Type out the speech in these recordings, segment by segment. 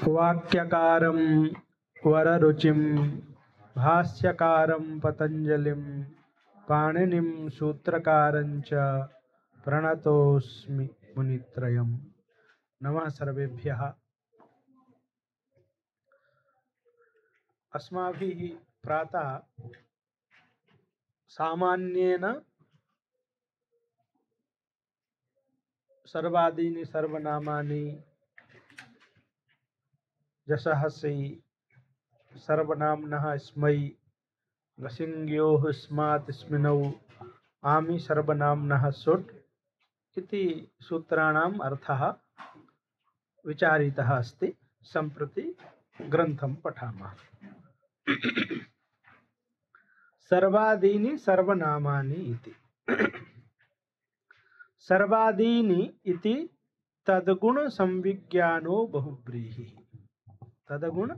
वाक्यकारं वररुचिं भाष्यकारं पतंजलिं पाणिनिं सूत्रकारं च प्रणतोऽस्मि मुनित्रयम्। नमः सर्वेभ्यः। अस्माभिः प्रातः सामान्येन सर्वादीनि सर्वनामानि जसहसि सर्वनाम्नः स्मै गसिङ्ग्योः स्मात् स्मिनौ आमि सर्वनाम्नः सुट् इति सूत्राणाम् अर्थः विचारितः अस्ति। सम्प्रति ग्रन्थं पठामः। सर्वादीनि सर्वनामानि इति। सर्वादीनि इति तद्गुण संविज्ञानो बहुब्रीहिः। तद्गुण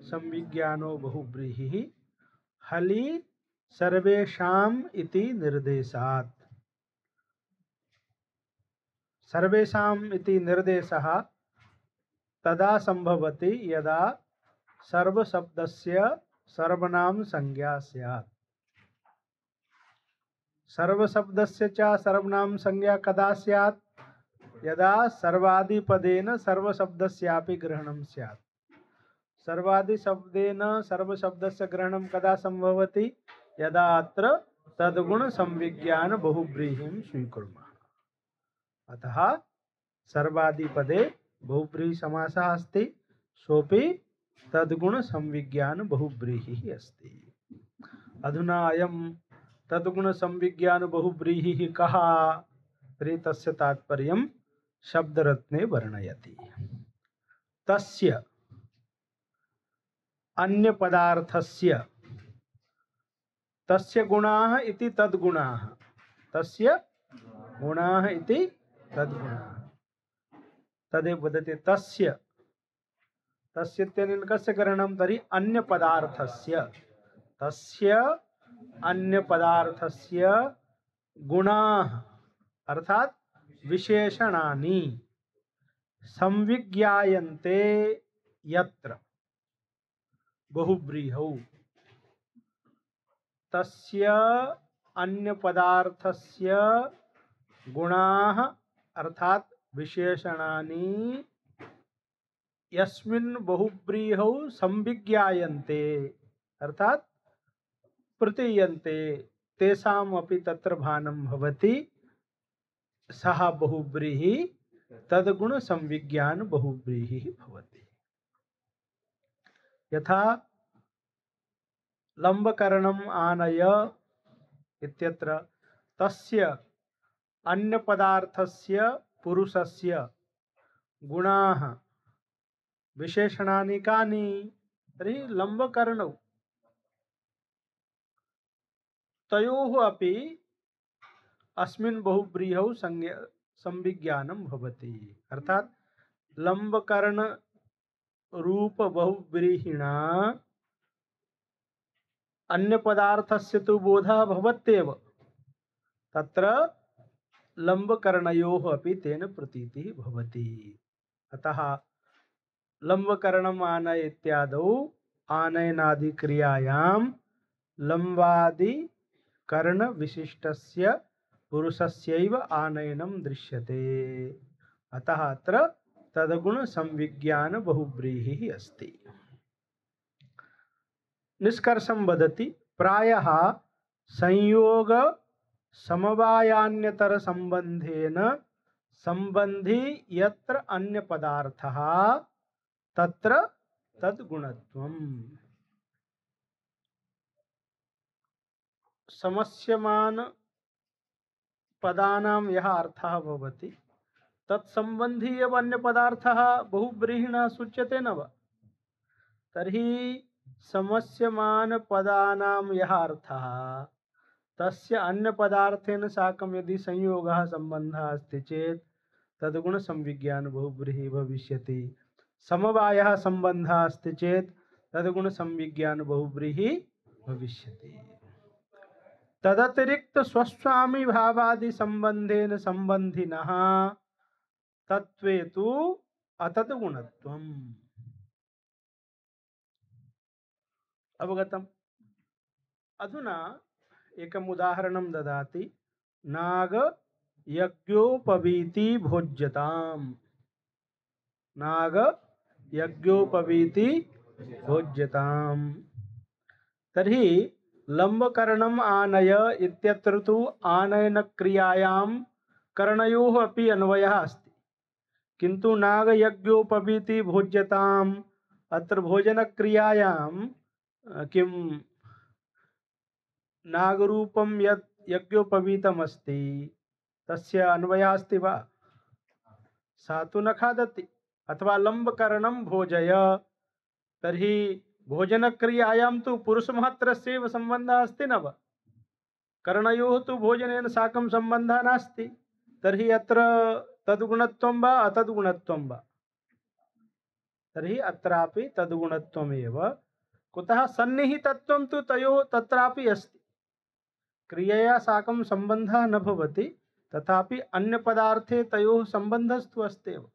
संविज्ञानो बहुब्रीहिः हलि सर्वेषाम् इति निर्देशात्। सर्वेषाम् इति निर्देशः तदा संभवति यदा सर्वशब्दस्य सर्वनाम संज्ञा स्यात्। सर्वशब्दस्य च सर्वनाम संज्ञा कदा स्यात्? यदा सर्वादिपदेन सर्वशब्दस्यापि ग्रहणं स्यात्। सर्वादिशब्देन सर्वशब्दस्य ग्रहणं कदा संभवति? यदा अत्र तद्गुण संविज्ञान बहुब्रीहिं स्वीकुर्मः। अतः सर्वादिपदे बहुब्रीहि समासः अस्ति, सोऽपि तद्गुण संविज्ञान बहुब्रीहिः अस्ति। अधुना अयं तद्गुण संविज्ञान बहुब्रीहिः कः? तर्हि तस्य तात्पर्यं शब्दरत्ने वर्णयति। तस्य अन्य पदार्थस्य तस्य गुणाः इति तद्गुणाः। तस्य गुणाः इति तद्गुणाः। तदेव वदति तस्य। तस्य इत्यनेन कस्य ग्रहणं? तर्हि अन्य पदार्थस्य। तस्य अन्य पदार्थस्य गुणाः अर्थात विशेषणानि संविज्ञायन्ते यत्र बहुब्रीहौ। तस्य अन्य पदार्थस्य गुणाः अर्थात विशेषणानि यस्मिन् बहुब्रीहौ संविज्ञायन्ते अर्थात प्रतीयन्ते तेषाम् अपि तत्र भानं भवति। सः बहुब्रीहि तद्गुण संविज्ञान बहुब्रीहिः भवति। यथा लम्बकरणम् आनय इत्यत्र तस्य अन्य पदार्थस्य पुरुषस्य गुणाः विशेषणानि कानि? तर्हि लम्बकरणौ तयोः अपि अस्मिन् बहुब्रीहौ संविज्ञानं भवति। अर्थात लम्बकर्ण रूप बहुब्रीहिणा अन्य पदार्थस्य तु बोधः भवत्येव, तत्र लम्बकर्णयोः अपि तेन प्रतीतिः भवति। अतः लम्बकर्णम् आनय इत्यादौ आनयनादि क्रियायां लम्बादि कर्ण विशिष्टस्य पुरुषस्यैव आनयनं दृश्यते। अतः अत्र तद्गुण संविज्ञान बहुब्रीहिः अस्ति। निष्कर्षं वदति प्रायः संयोग समवायान्यतर संबंधेन संबंधी यत्र अन्य पदार्थः तत्र तद्गुणत्वम्। समस्यमान पदानां यः अर्थः भवति तत्संबंधी एव अन्य पदार्थः बहुब्रीहिणः सूच्यते न वा? तर्हि समस्यमान पदानां यः अर्थः तस्य अन्य पदार्थेन साकं यदि संयोगः संबंधः अस्ति चेत् तद्गुण संविज्ञान बहुब्रीहि भविष्यति। समवायः संबंधः अस्ति चेत् तद्गुण संविज्ञान बहुब्रीहि भविष्यति। तदतिरिक्त स्वस्वामी भावादि संबंधेन संबंधिनः तत्वे तु अतद्गुणत्वम्। अवगतम्? अधुना एकम् उदाहरणं ददाति। नाग यज्ञोपवीति भोज्यताम्। नाग यज्ञोपवीति भोज्यताम्। तर्हि लम्बकरणम् आनय इत्यत्र तु आनयन क्रियायां करणयोः अपि अन्वयः अस्ति, किन्तु नाग यज्ञोपवीति भोज्यताम् अत्र भोजन क्रियायां किं नागरूपं यत् यज्ञोपवीतमस्ति तस्य अन्वयः अस्ति वा? सा तु न खादति। अथवा लम्बकरणं भोजय, तर्हि भोजनक्रियायां तु पुरुषमात्रस्यैव सम्बन्धः अस्ति न वा? कर्णयोः तु भोजनेन साकं सम्बन्धः नास्ति। तर्हि अत्र तद्गुणत्वं वा अतद्गुणत्वं वा? तर्हि अत्रापि तद्गुणत्वमेव। कुतः? सन्निहितत्वं तु तयोः तत्रापि अस्ति। क्रियया साकं सम्बन्धः न भवति, तथापि अन्यपदार्थे तयोः सम्बन्धस्तु अस्त्येव।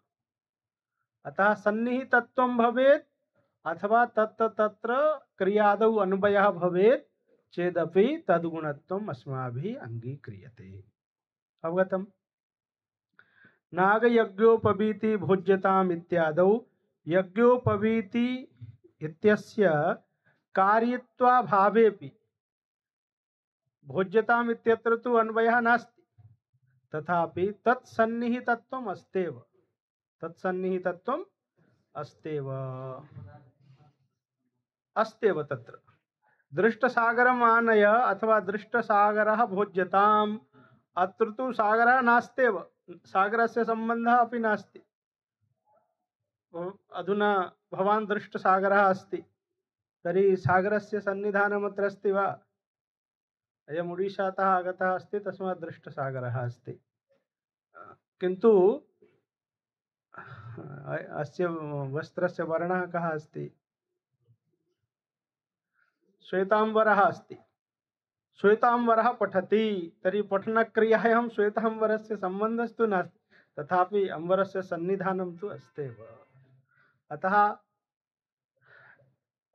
अतः सन्निहितत्वं भवेत् अथवा तत्र क्रियादौ अन्वयः भवेत् चेदपि तद्गुणत्वम् अस्माभिः अङ्गीक्रियते। अवगतम्? नागयज्ञोपवीति भोज्यताम् इत्यादौ यज्ञोपवीति इत्यस्य कार्यत्वाभावेपि भोज्यताम् इत्यत्र तु अन्वयः नास्ति, तथापि तत्सन्निहितत्वम् अस्त्येव। तत्सन्निहितत्वम् अस्त्येव अस्त्येव। तत्र दृष्टसागरम् आनय अथवा दृष्टसागरः भोज्यताम्, अत्र तु सागरः नास्त्येव, सागरस्य सम्बन्धः अपि नास्ति। अधुना भवान् दृष्टसागरः अस्ति, तर्हि सागरस्य सन्निधानमत्र अस्ति वा? अयम् उडीशातः आगतः अस्ति, तस्मात् दृष्टसागरः अस्ति। किन्तु अस्य वस्त्रस्य वर्णः कः अस्ति? श्वेतांबरः अस्ति। श्वेतांबरः पठति, तर्हि पठनक्रियायां श्वेतांबरस्य सम्बन्धस्तु नास्ति, तथापि अंबरस्य सन्निधानं तु अस्त्येव। अतः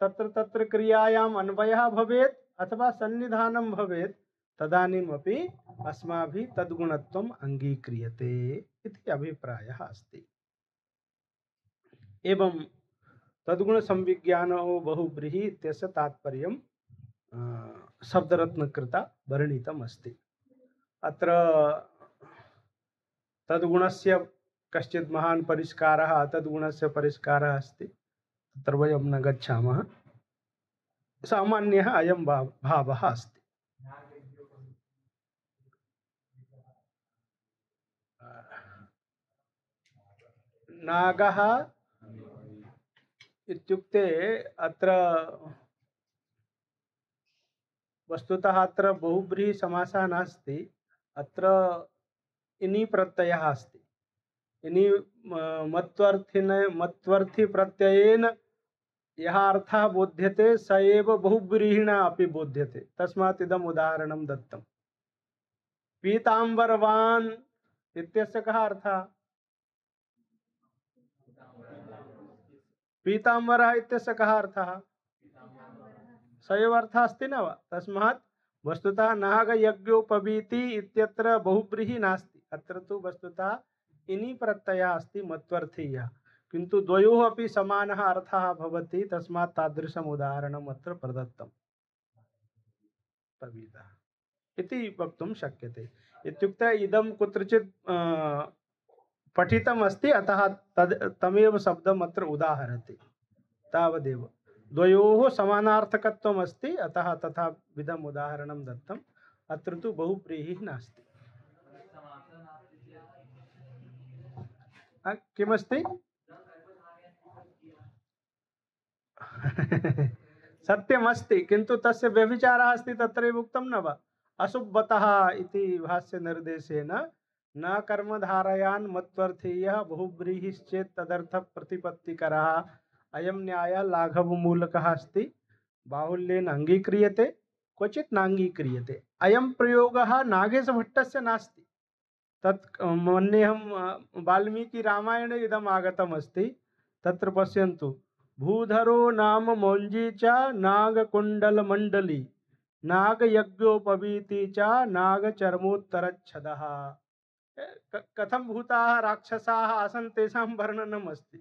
तत्र तत्र क्रियायाम् अन्वयः भवेत् अथवा सन्निधानं भवेत्, तदानीमपि अस्माभिः तद्गुणत्वम् अङ्गीक्रियते इति अभिप्रायः अस्ति। एवं तद्गुणसंविज्ञानो बहुव्रीहि इत्यस्य तात्पर्यं शब्दरत्नकृता वर्णितम् अस्ति। अत्र तद्गुणस्य कश्चित् महान् परिष्कारः तद्गुणस्य परिष्कारः अस्ति, तत्र वयं न गच्छामः। सामान्यः अयं भावः अस्ति। नागः इत्युक्ते अत्र वस्तुतः अत्र बहुव्रीहि समासः नास्ति, अत्र इनि प्रत्ययः अस्ति। इनि मत्वर्थी प्रत्ययेन यः अर्थः बोध्यते स एव बहुव्रीहिणा अपि बोध्यते, तस्मात् इदम् उदाहरणं दत्तम्। पीताम्बरवान् इत्यस्य कः अर्थः? पीताम्बरः इत्यस्य कः अर्थः? स एव अर्थः अस्ति न वा? तस्मात् वस्तुतः नागयज्ञोपवीति इत्यत्र बहुव्रीहि नास्ति, अत्र तु वस्तुतः इनि प्रत्ययः अस्ति मत्वर्थीयः, किन्तु द्वयोः अपि समानः अर्थः भवति, तस्मात् तादृशम् उदाहरणम् अत्र प्रदत्तम्। पवीतः इति वक्तुं शक्यते। इत्युक्ते इदं कुत्रचित् पठितम् अस्ति, अतः तमेव शब्दम् अत्र उदाहरति, तावदेव। द्वयोः समानार्थकत्वम् अस्ति, अतः तथा विधम् उदाहरणं दत्तम्। अत्र तु बहुव्रीहिः नास्ति। किमस्ति? सत्यमस्ति, किन्तु तस्य व्यभिचारः अस्ति, तत्रैव उक्तं न वा? अशुभतः इति भाष्यनिर्देशेन न कर्मधारयान् मत्वर्थीयः बहुव्रीहिश्चेत् तदर्थः प्रतिपत्तिकरः अयं न्यायः लाघवमूलकः अस्ति, बाहुल्येन अङ्गीक्रियते क्वचित् नाङ्गीक्रियते। अयं प्रयोगः नागेशभट्टस्य नास्ति। तत् मन्येऽहं वाल्मीकिरामायणे इदम् आगतमस्ति। तत्र पश्यन्तु, भूधरो नाम मौञ्जी च नागकुण्डलमण्डली नागयज्ञोपवीति च नागचर्मोत्तरच्छदः। कथं भूताः राक्षसाः आसन् तेषां वर्णनम् अस्ति।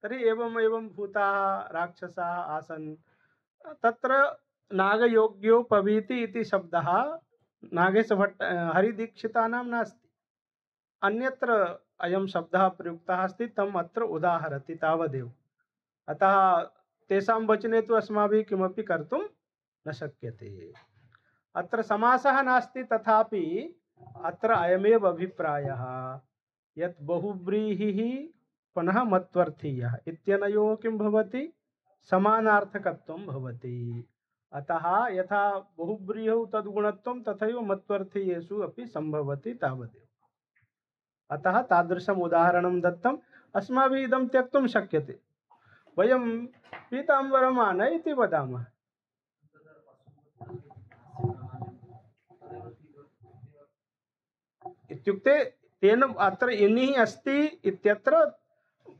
तर्हि एवम् एवं भूताः राक्षसाः आसन्। तत्र नागयोग्योपवीति इति शब्दः नागेशभट्ट हरिदीक्षितानां नास्ति, अन्यत्र अयं शब्दः प्रयुक्तः अस्ति, तम् अत्र उदाहरति तावदेव। अतः तेषां वचने तु अस्माभिः किमपि कर्तुं न शक्यते। अत्र समासः नास्ति, तथापि अत्र अयमेव अभिप्रायः यत् बहुव्रीहिः पुनः मत्वर्थीयः इत्यनयोः किं भवति, समानार्थकत्वं भवति। अतः यथा बहुव्रीहौ तद्गुणत्वं तथैव मत्वर्थीयेषु अपि सम्भवति तावदेव। अतः तादृशम् उदाहरणं दत्तम्। अस्माभिः इदं त्यक्तुं शक्यते। वयं पीताम्बरम् इति वदामः। इत्युक्ते तेन अत्र इनिः अस्ति इत्यत्र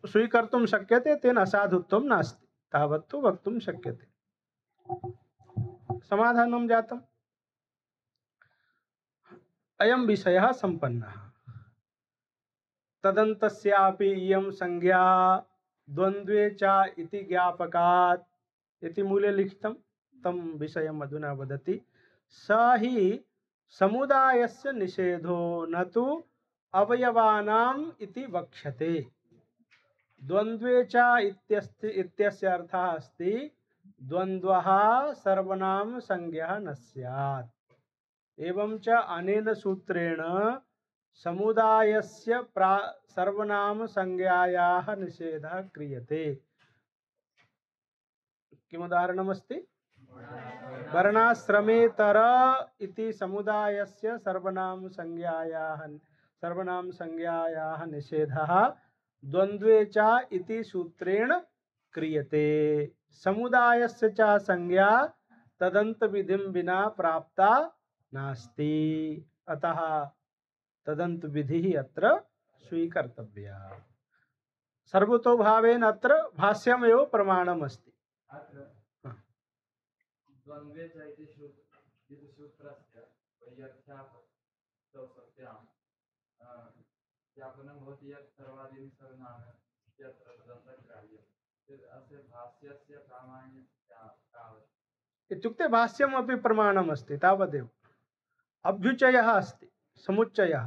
स्वीकर्तुं शक्यते, तेन असाधुत्वं नास्ति, तावत्तु वक्तुं शक्यते। समाधानं जातम्। अयं विषयः सम्पन्नः। तदन्तस्यापि इयं संज्ञा द्वन्द्वे च इति ज्ञापकात् इति मूले लिखितं। तं विषयम् अधुना वदति। स हि समुदायस्य निषेधो न तु अवयवानाम् इति वक्ष्यते। द्वन्द्वे च इत्यस्य अर्थः अस्ति द्वन्द्वः सर्वनाम संज्ञा न स्यात्। एवं च अनेन सूत्रेण समुदायस्य सर्वनाम संज्ञायाः निषेधः क्रियते। किमुदाहरणमस्ति? वर्णाश्रमेतर इति समुदायस्य सर्वनाम संज्ञायाः निषेधः द्वन्द्वे च इति सूत्रेण क्रियते। समुदायस्य च संज्ञा तदन्त विधिं विना प्राप्ता नास्ति। अतः तदन्त विधिः अत्र स्वीकर्तव्या। सर्वतोभावेन अत्र भाष्यमेव प्रमाणम् अस्ति। द्वन्द्वे च इति सूत्रस्य वैयर्थ्यापत्यां ज्ञापनं भवति यत् सर्वादीनि सर्वनाम इत्यत्र तदन्तग्राह्यम्। अस्य भाष्यस्य प्रामाण्यं तावत् इत्युक्ते भाष्यमपि प्रमाणम् अस्ति तावदेव। अभ्युचयः अस्ति, समुच्चयः।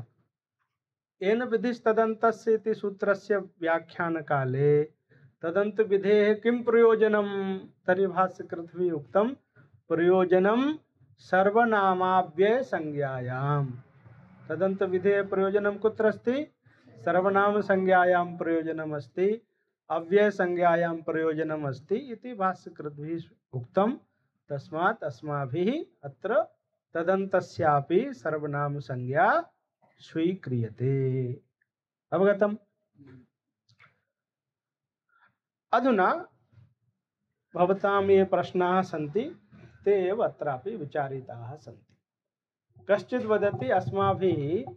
येन विधिस्तदन्तस्य इति सूत्रस्य व्याख्यानकाले तदन्तविधेः किं प्रयोजनं? तर्हि भाष्यकृतभिः उक्तं प्रयोजनं सर्वनामाव्यय संज्ञायाम्। तदन्तविधेः प्रयोजनं कुत्र अस्ति? सर्वनाम संज्ञायां प्रयोजनम् अस्ति, अव्यय संज्ञायां प्रयोजनम् अस्ति इति भाष्यकृतभिः उक्तं। तस्मात् अस्माभिः अत्र तदन्तस्यापि सर्वनाम संज्ञा स्वीक्रियते। अवगतम्? अधुना भवतां ये प्रश्नाः सन्ति ते एव अत्रापि विचारिताः सन्ति। कश्चित् वदति अस्माभिः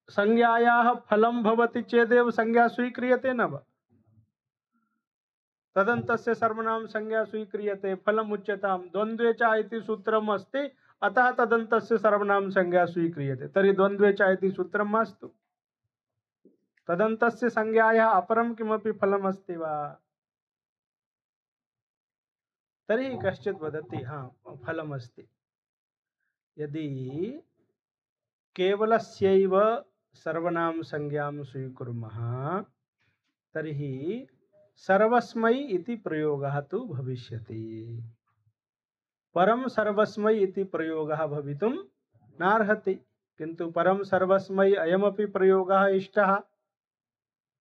संज्ञायाः फलं भवति चेदेव संज्ञा स्वीक्रियते न वा? तदन्तस्य सर्वनाम संज्ञा स्वीक्रियते, फलम् उच्यतां। द्वन्द्वे च इति सूत्रम् अस्ति, अतः तदन्तस्य सर्वनाम संज्ञा स्वीक्रियते। तर्हि द्वन्द्वे च इति सूत्रं मास्तु। तदन्तस्य संज्ञायाः अपरं किमपि फलम् अस्ति वा? तर्हि कश्चित् वदति हाँ फलम् अस्ति। यदि केवलस्यैव सर्वनाम संज्ञां स्वीकुर्मः तर्हि सर्वस्मै इति प्रयोगः तु भविष्यति। परम सर्वस्मै इति प्रयोगः भवितुं नार्हति, किन्तु परम सर्वस्मै अयमपि प्रयोगः इष्टः।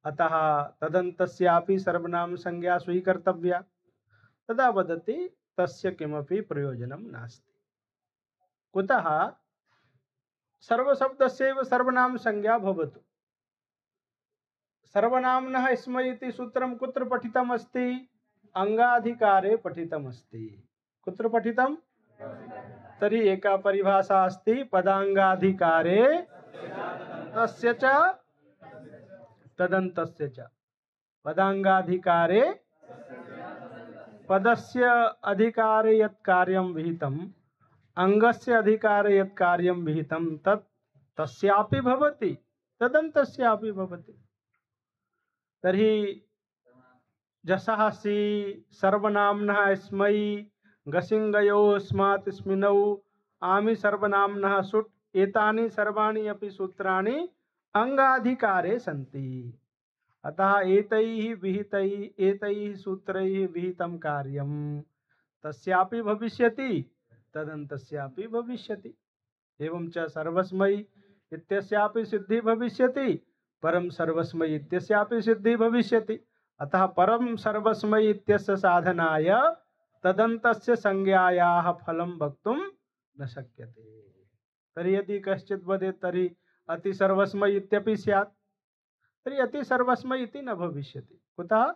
अतः तदन्तस्यापि सर्वनाम संज्ञा स्वीकर्तव्या। तदा वदति तस्य किमपि प्रयोजनं नास्ति। कुतः? सर्वशब्दस्यैव सर्वनाम संज्ञा भवतु। सर्वनाम्नः स्मै इति सूत्रं कुत्र पठितमस्ति? अंगाधिकारे पठितमस्ति। कुत्र पठितम्? तर्हि एका परिभाषा अस्ति पदाङ्गाधिकारे तस्य च तदन्तस्य च। पदाङ्गाधिकारे पदस्य अधिकारे यत् कार्यं विहितम् अङ्गस्य अधिकारे यत् कार्यं विहितं तत् तस्यापि भवति तदन्तस्यापि भवति। तर्हि जसासि सर्वनाम्नः स्मै गसिङ्गयो स्मात् स्मिनौ आमि सर्वनाम्नः सुट् एतानि सर्वाणि अपि सूत्राणि अंगाधिकारे सन्ति। अतः एतैः सूत्रैः विहितं कार्यं तस्यापि भविष्यति तदन्तस्यापि भविष्यति। एवं च सर्वस्मै इत्यस्यापि सिद्धिः भविष्यति परं सर्वस्मै इत्यस्यापि सिद्धिः भविष्यति। अतः परं सर्वस्मै इत्यस्य साधनाय तदन्तस्य संज्ञायाः फलं वक्तुं न शक्यते। तर्हि यदि कश्चित् वदेत् तर्हि अति सर्वस्मै इत्यपि स्यात् तर्हि अति सर्वस्मै इति न भविष्यति। कुतः?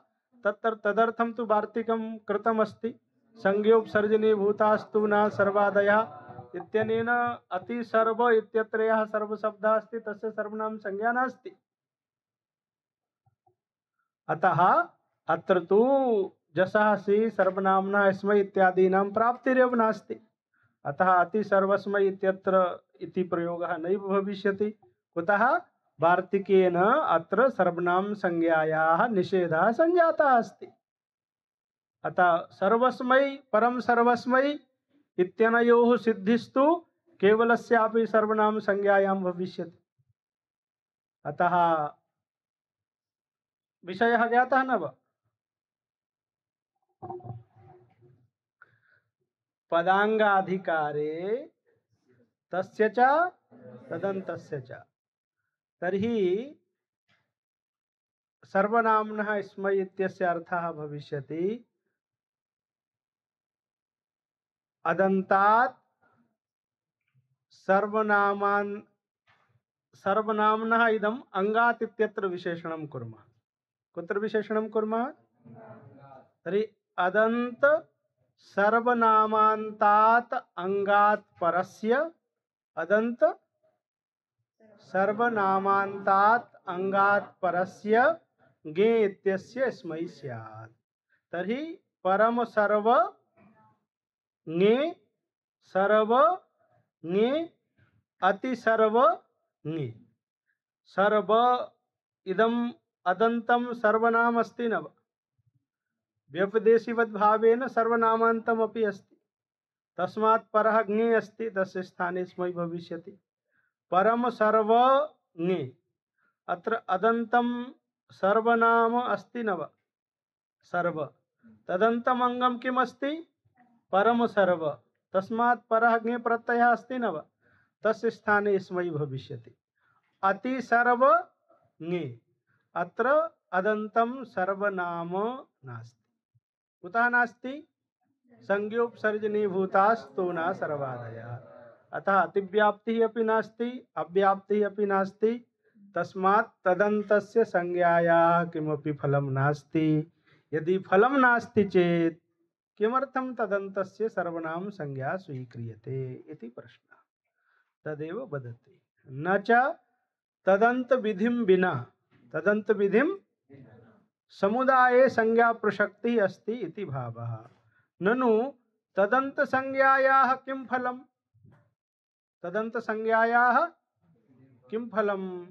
तदर्थं तु वार्तिकं कृतमस्ति संज्ञोपसर्जनीभूतास्तु न सर्वादयः इत्यनेन अति सर्व इत्यत्र यः सर्वशब्दः अस्ति तस्य सर्वनाम संज्ञा नास्ति। अतः अत्र तु जसासि सर्वनाम्नः स्मै इत्यादीनां प्राप्तिरेव नास्ति। अतः अति सर्वस्मै इत्यत्र इति प्रयोगः नैव भविष्यति। कुतः? वार्तिकेन अत्र सर्वनाम संज्ञायाः निषेधः संजातः अस्ति। अतः सर्वस्मै परं सर्वस्मै इत्यनयोः सिद्धिस्तु केवलस्यापि सर्वनाम संज्ञायां भविष्यति। अतः विषयः ज्ञातः न वा? पदाङ्गाधिकारे तस्य च तदन्तस्य च। तर्हि सर्वनाम्नः स्मै इत्यस्य अर्थः भविष्यति अदन्तात् सर्वनाम्नः इदम् अंगात् इत्यत्र विशेषणं कुर्मः। कुत्र विशेषणं कुर्मः? तर्हि अदन्त सर्वनामान्तात् अंगात् परस्य अदन्त सर्वनामान्तात् अंगात् परस्य ङे इत्यस्य स्मै स्यात्। तर्हि परम सर्व ङे सर्व ङे अति सर्व ङे। सर्व इदम् अदन्तं सर्वनाम अस्ति न वा? व्यपदेशीवद्भावेन सर्वनामान्तमपि अस्ति। तस्मात् परः ङे अस्ति तस्य स्थाने स्मै भविष्यति। परम सर्व ङे अत्र अदन्तं सर्वनाम अस्ति न वा? सर्व तदन्तम् अंगम किम् अस्ति? परम सर्व। तस्मात् परः ङे प्रत्ययः अस्ति न वा? तस्य स्थाने स्मै भविष्यति। अति सर्व ङे अत्र अदन्तं सर्वनाम नास्ति। कुतः नास्ति? संज्ञोपसर्जनीभूतास्तु न सर्वादयः। अतः अतिव्याप्तिः अपि नास्ति अव्याप्तिः अपि नास्ति। तस्मात् तदन्तस्य संज्ञायाः किमपि फलं नास्ति। यदि फलं नास्ति चेत् किमर्थं तदन्तस्य सर्वनाम संज्ञा स्वीक्रियते इति प्रश्नः। तदेव वदति न च तदन्त विधिं विना तदन्त विधिं समुदाये संज्ञा प्रसक्ति अस्ति इति भावः। ननु तदन्त संज्ञायाः किं फलम्? तदन्त संज्ञायाः किं फलम्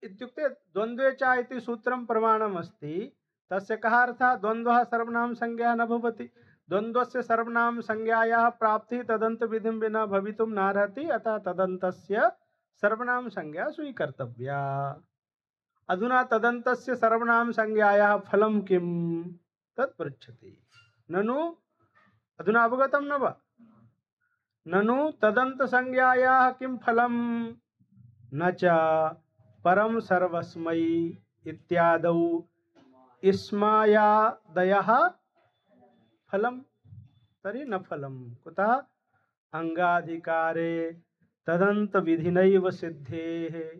इत्युक्ते द्वन्द्वे च इति सूत्रं प्रमाणम् अस्ति। तस्य कः अर्थः? द्वन्द्वः सर्वनाम संज्ञा न भवति। द्वन्द्वस्य सर्वनाम संज्ञायाः प्राप्तिः तदन्त विधिं विना भवितुं नार्हति। अतः तदन्तस्य सर्वनाम संज्ञा स्वीकर्तव्या। अधुना तदन्तस्य सर्वनाम संज्ञायाः फलं किं तत् पृच्छति। ननु अधुना अवगतं न वा? ननु तदन्त संज्ञायाः किं फलं? न च परम सर्वस्मै इत्यादौ इस्मायादयः फलं। तर्हि न फलं। कुतः? अंगाधिकारे तदन्त विधिनैव सिद्धेः।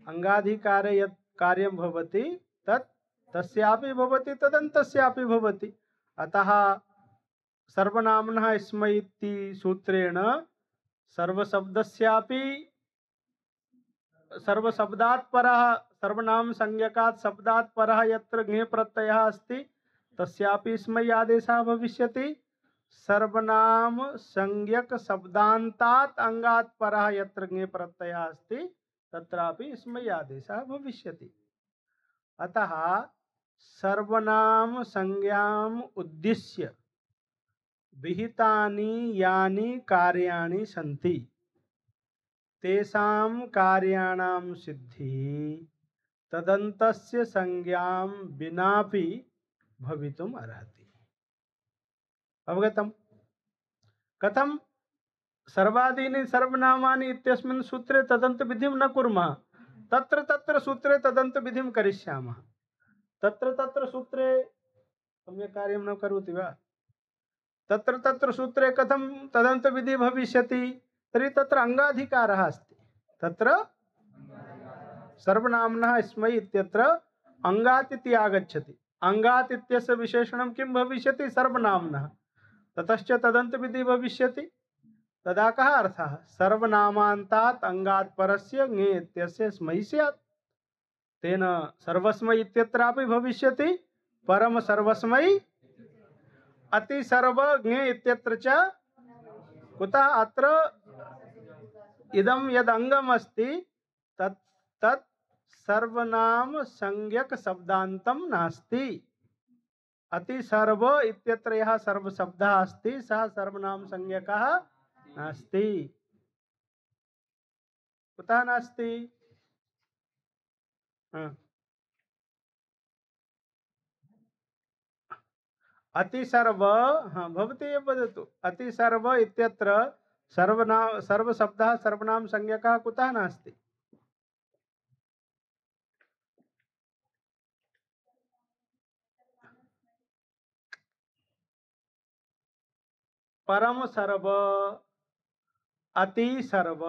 अंगाधिकारे यत् कार्यं भवति तत् तस्यापि भवति तदन्तस्यापि भवति। अतः सर्वनाम्नः स्मै इति सूत्रेण सर्वशब्दस्यापि सर्वशब्दात् परः सर्वनाम संज्ञकात् शब्दात् परः यत्र ज्ञे प्रत्ययः अस्ति तस्यापि स्मै आदेशः भविष्यति। सर्वनाम संज्ञक शब्दान्तात् अंगात् परः यत्र ज्ञे प्रत्ययः अस्ति तत्रापि स्मै आदेशः भविष्यति। अतः सर्वनाम संज्ञाम् उद्दिश्य विहितानि यानि कार्याणि सन्ति तेषां कार्याणां सिद्धिः तदन्तस्य संज्ञां विनापि भवितुम् अर्हति। अवगतम्? कथं? सर्वादीनि सर्वनामानि इत्यस्मिन् सूत्रे तदन्त विधिं न कुर्मः, तत्र तत्र सूत्रे तदन्त विधिं करिष्यामः। तत्र तत्र सूत्रे सम्यक् कार्यं न करोति वा? तत्र तत्र सूत्रे कथं तदन्त विधि भविष्यति? तर्हि तत्र अंगाधिकारः अस्ति। तत्र सर्वनाम्नः स्मै इत्यत्र अंगात् इति आगच्छति। अंगात् इत्यस्य विशेषणं किं भविष्यति? सर्वनाम्नः। ततश्च तदन्त विधि भविष्यति। तदा कः अर्थः? सर्वनामान्तात् अंगात् परस्य ङे इत्यस्य स्मै स्यात्। तेन सर्वस्मै इत्यत्रापि भविष्यति परम सर्वस्मै अति सर्व ङे इत्यत्र च। कुतः? अत्र इदं यद् अंगम् अस्ति तत् तत् सर्वनाम संज्ञक शब्दान्तं नास्ति। अति सर्व इत्यत्र यः सर्व शब्दः अस्ति सः सर्वनाम संज्ञकः नास्ति। कुतः नास्ति? अति सर्व, भवती एव वदतु। अति सर्व इत्यत्र सर्वनाम सर्वशब्दः सर्वनाम संज्ञकः कुतः नास्ति? परम सर्व अति सर्व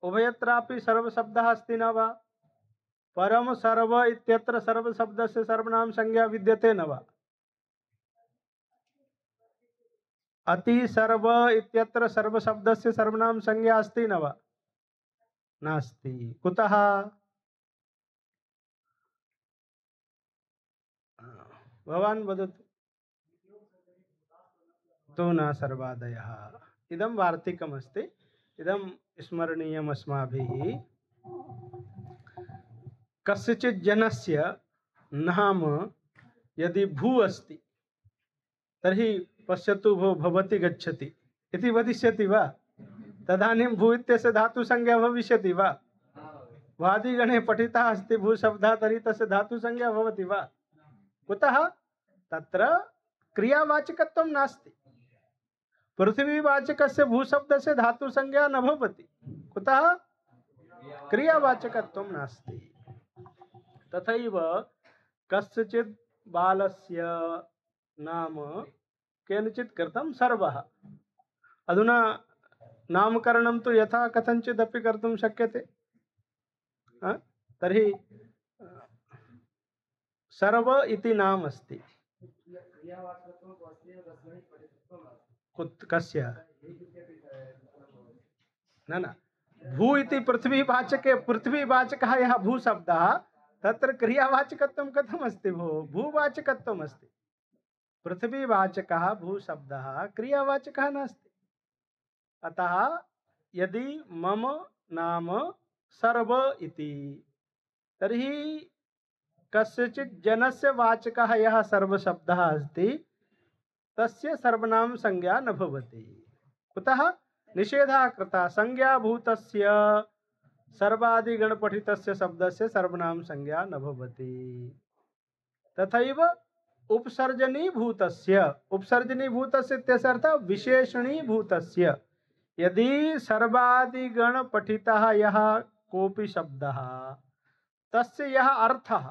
उभयत्रापि सर्वशब्दः अस्ति न वा? परम सर्व इत्यत्र सर्वशब्दस्य सर्वनाम संज्ञा विद्यते न वा? अति सर्व इत्यत्र सर्वशब्दस्य सर्वनाम संज्ञा अस्ति न वा? नास्ति। कुतः? भवान् वदतु। तो न सर्वादयः। इदं वार्तिकमस्ति। इदं स्मरणीयम् अस्माभिः। कस्यचित् जनस्य नाम यदि भू अस्ति तर्हि पश्यतु भो भवति गच्छति इति वदिष्यति वा? तदानीं भू इत्यस्य धातुसंज्ञा भविष्यति वा? वादिगणे पठितः अस्ति भू शब्दः, तर्हि तस्य धातुसंज्ञा भवति वा? कुतः? तत्र क्रियावाचकत्वं नास्ति। पृथ्वीवाचकस्य भूशब्दस्य धातुसंज्ञा न भवति। कुतः? क्रियावाचकत्वं नास्ति। तथैव कस्यचित् बालस्य नाम केनचित् कृतं सर्वः। अधुना नामकरणं तु यथा कथञ्चिदपि कर्तुं शक्यते। तर्हि सर्व इति नाम अस्ति। कस्य? न भू इति पृथ्वीवाचके पृथ्वीवाचकः यः भूशब्दः तत्र क्रियावाचकत्वं कथम् अस्ति? भूवाचकत्वम् अस्ति। पृथ्वीवाचकः भूशब्दः क्रियावाचकः नास्ति। अतः यदि मम नाम सर्व इति तर्हि कस्यचित् जनस्य वाचकः यः सर्वशब्दः अस्ति तस्य सर्वनाम संज्ञा न भवति। कुतः? निषेधः कृतः। संज्ञाभूतस्य सर्वादिगणपठितस्य शब्दस्य सर्वनाम संज्ञा न भवति। तथैव उपसर्जनीभूतस्य उपसर्जनीभूतस्य इत्यस्य अर्थः विशेषणीभूतस्य यदि सर्वादिगणपठितः यः कोऽपि शब्दः तस्य यः अर्थः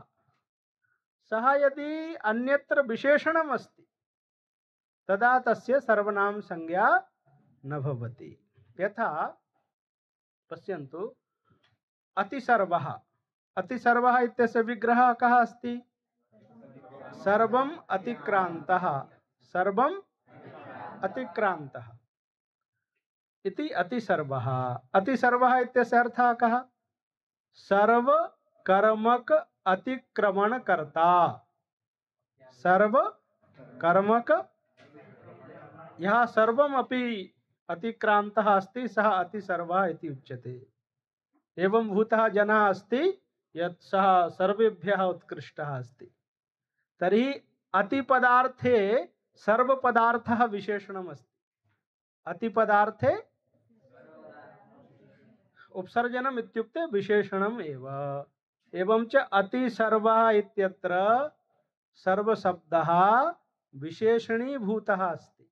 सः यदि अन्यत्र विशेषणम् अस्ति तदा तस्य सर्वनाम संज्ञा न भवति। यथा पश्यन्तु, अतिसर्वः। अतिसर्वः इत्यस्य विग्रहः कः अस्ति? सर्वम अतिक्रांतः, सर्वम अतिक्रांतः इति अतिसर्वः। अतिसर्वः इत्यस्य अर्थः कः? सर्व कर्मक अतिक्रमण कर्ता। सर्व कर्मक, यः सर्वम अपि अतिक्रांतः अस्ति सः अतिसर्वः इति उच्यते। एवं भूतः जनः अस्ति यत् सः सर्वेभ्यः उत्कृष्टः अस्ति। तर्हि अतिपदार्थे सर्वपदार्थः विशेषणम् अस्ति। अतिपदार्थे उपसर्जनम् इत्युक्ते विशेषणम् एव। एवं च अतिसर्वः इत्यत्र सर्वशब्दः विशेषणीभूतः अस्ति,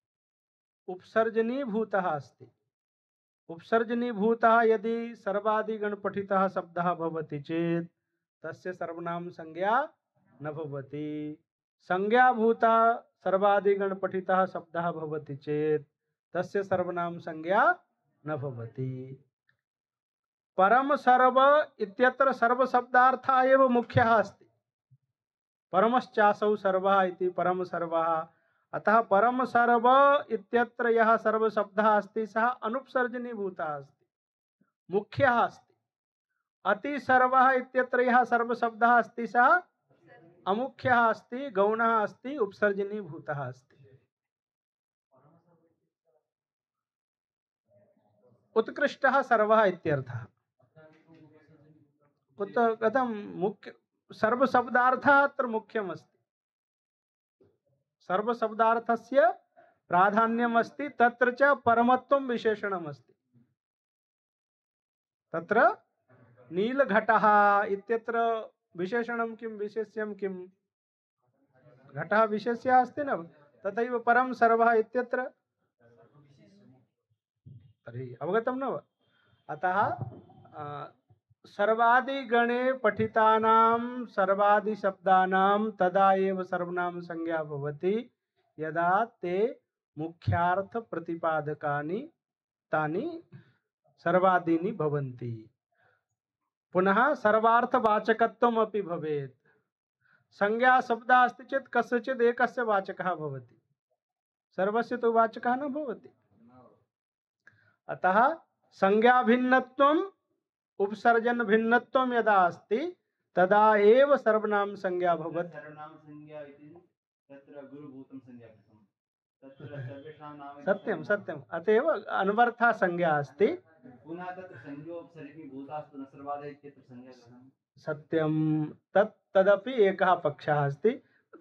उपसर्जनीभूतः अस्ति। उपसर्जनीभूतः यदि सर्वादिगणपठितः शब्दः भवति चेत् तस्य सर्वनाम संज्ञा न भवति। संज्ञाभूतः सर्वादिगणपठितः शब्दः भवति चेत् तस्य सर्वनाम संज्ञा न भवति। परम सर्व इत्यत्र सर्वशब्दार्थः एव मुख्यः अस्ति। परमश्चासौ सर्वः इति परम सर्वः। अतः परम सर्व इत्यत्र यः सर्वशब्दः अस्ति सः अनुपसर्जनीभूतः अस्ति, मुख्यः अस्ति। अति सर्वः इत्यत्र यः सर्वशब्दः अस्ति सः अमुख्यः अस्ति, गौणः अस्ति, उपसर्जनीभूतः अस्ति। उत्कृष्टः सर्वः इत्यर्थः। कथं मुख्य सर्वशब्दार्थः अत्र मुख्यमस्ति। सर्वशब्दार्थस्य प्राधान्यम् अस्ति, तत्र च परमत्वं विशेषणम् अस्ति। तत्र नीलघटः इत्यत्र विशेषणं किं, विशेष्यं किं? घटः विशेष्यः अस्ति न, तथैव परम सर्वः इत्यत्र तर्हि अवगतं न वा? अतः सर्वादिगणे पठितानां सर्वादिशब्दानां तदा एव सर्वनाम संज्ञा भवति यदा ते मुख्यार्थ प्रतिपादकानि तानि सर्वादीनि भवन्ति। पुनः सर्वार्थवाचकत्वम् अपि भवेत्। संज्ञा शब्दः अस्ति चेत् कस्यचित् एकस्य वाचकः भवति, सर्वस्य तु वाचकः न भवति। अतः संज्ञा भिन्नत्वम् उपसर्जन भिन्नत्वं यदा अस्ति तदा एव सर्वनाम संज्ञा भवति। सर्वनाम संज्ञा इति तत्र गुरुभूतं संज्ञा कृतं, तत्र सर्वेषां नाम सत्यं सत्यम्, अतएव अन्वर्थः संज्ञा अस्ति। पुनः तत्र संज्ञोपसर्गीभूतास्तु न सर्वादः इत्यत्र संज्ञा कृतं। सत्यं, तदपि एकः पक्षः अस्ति।